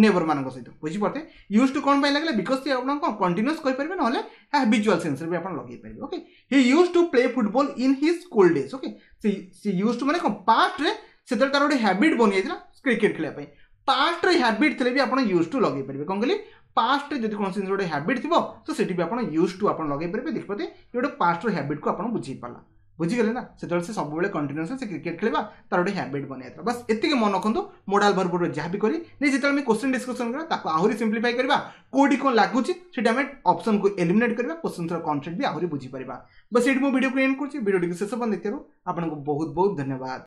ନେବର ମାନଙ୍କ ସହିତ। ବୁଝିପାରୁଥିବେ ୟୁଜ୍ ଟୁ କ'ଣ ପାଇଁ ଲାଗିଲା? Because ସେ ଆପଣ କ'ଣ କଣ୍ଟିନ୍ୟୁଅସ୍ କହିପାରିବେ, ନହେଲେ ହ୍ୟାବିଚୁଆଲ୍ ସେନ୍ସରେ ବି ଆପଣ ଲଗେଇ ପାରିବେ। Okay, he use to play football in his school days. Okay, ସେ ୟୁଜ୍ ଟୁ ମାନେ କ'ଣ, ପାଷ୍ଟରେ ସେତେବେଳେ ତାର ଗୋଟେ ହ୍ୟାବିଟ୍ ବନିଯାଇଥିଲା କ୍ରିକେଟ୍ ଖେଳିବା ପାଇଁ। ପାଷ୍ଟରେ ହ୍ୟାବିଟ୍ ଥିଲେ ବି ଆପଣ ୟୁଜ୍ ଟୁ ଲଗେଇ ପାରିବେ। କ'ଣ କହିଲି? ପାଷ୍ଟରେ ଯଦି କୌଣସି ଜିନିଷ ଗୋଟେ ହ୍ୟାବିଟ୍ ଥିବ ତ ସେଠି ବି ଆପଣ ୟୁଜ୍ ଟୁ ଆପଣ ଲଗେଇ ପାରିବେ। ଦେଖିପାରୁଥିବେ ଗୋଟେ ପାଷ୍ଟର ହ୍ୟାବିଟ୍କୁ ଆପଣ ବୁଝେଇ ପାରିଲା, ବୁଝିଗଲେ ନା? ସେତେବେଳେ ସେ ସବୁବେଳେ କଣ୍ଟିନ୍ୟୁଅସ୍ ସେ କ୍ରିକେଟ୍ ଖେଳିବା ତାର ଗୋଟେ ହ୍ୟାବିଟ୍ ବନିଯାଇଥିଲା। ବାସ୍ ଏତିକି ମନେ ରଖନ୍ତୁ ମୋଡାଲ ଭର୍ବର ଯାହା ବି କରି ନେଇ। ଯେତେବେଳେ ଆମେ କ୍ୱେଶ୍ଚନ୍ ଡିସ୍କସନ୍ କରିବା ତାକୁ ଆହୁରି ସିମ୍ପ୍ଲିଫାଇ କରିବା, କେଉଁଠି କ'ଣ ଲାଗୁଛି ସେଠି ଆମେ ଅପସନ୍କୁ ଏଲିମିନେଟ୍ କରିବା, କ୍ୱେଶ୍ଚନ୍ସର କନସେପ୍ଟ ବି ଆହୁରି ବୁଝିପାରିବା। ବାସ୍ ଏଇଠି ମୁଁ ଭିଡ଼ିଓକୁ ଏଣ୍ଡ କରୁଛି। ଭିଡ଼ିଓଟିକୁ ଶେଷ ପର୍ଯ୍ୟନ୍ତ ଦେଖିବାରୁ ଆପଣଙ୍କୁ ବହୁତ ବହୁତ ଧନ୍ୟବାଦ।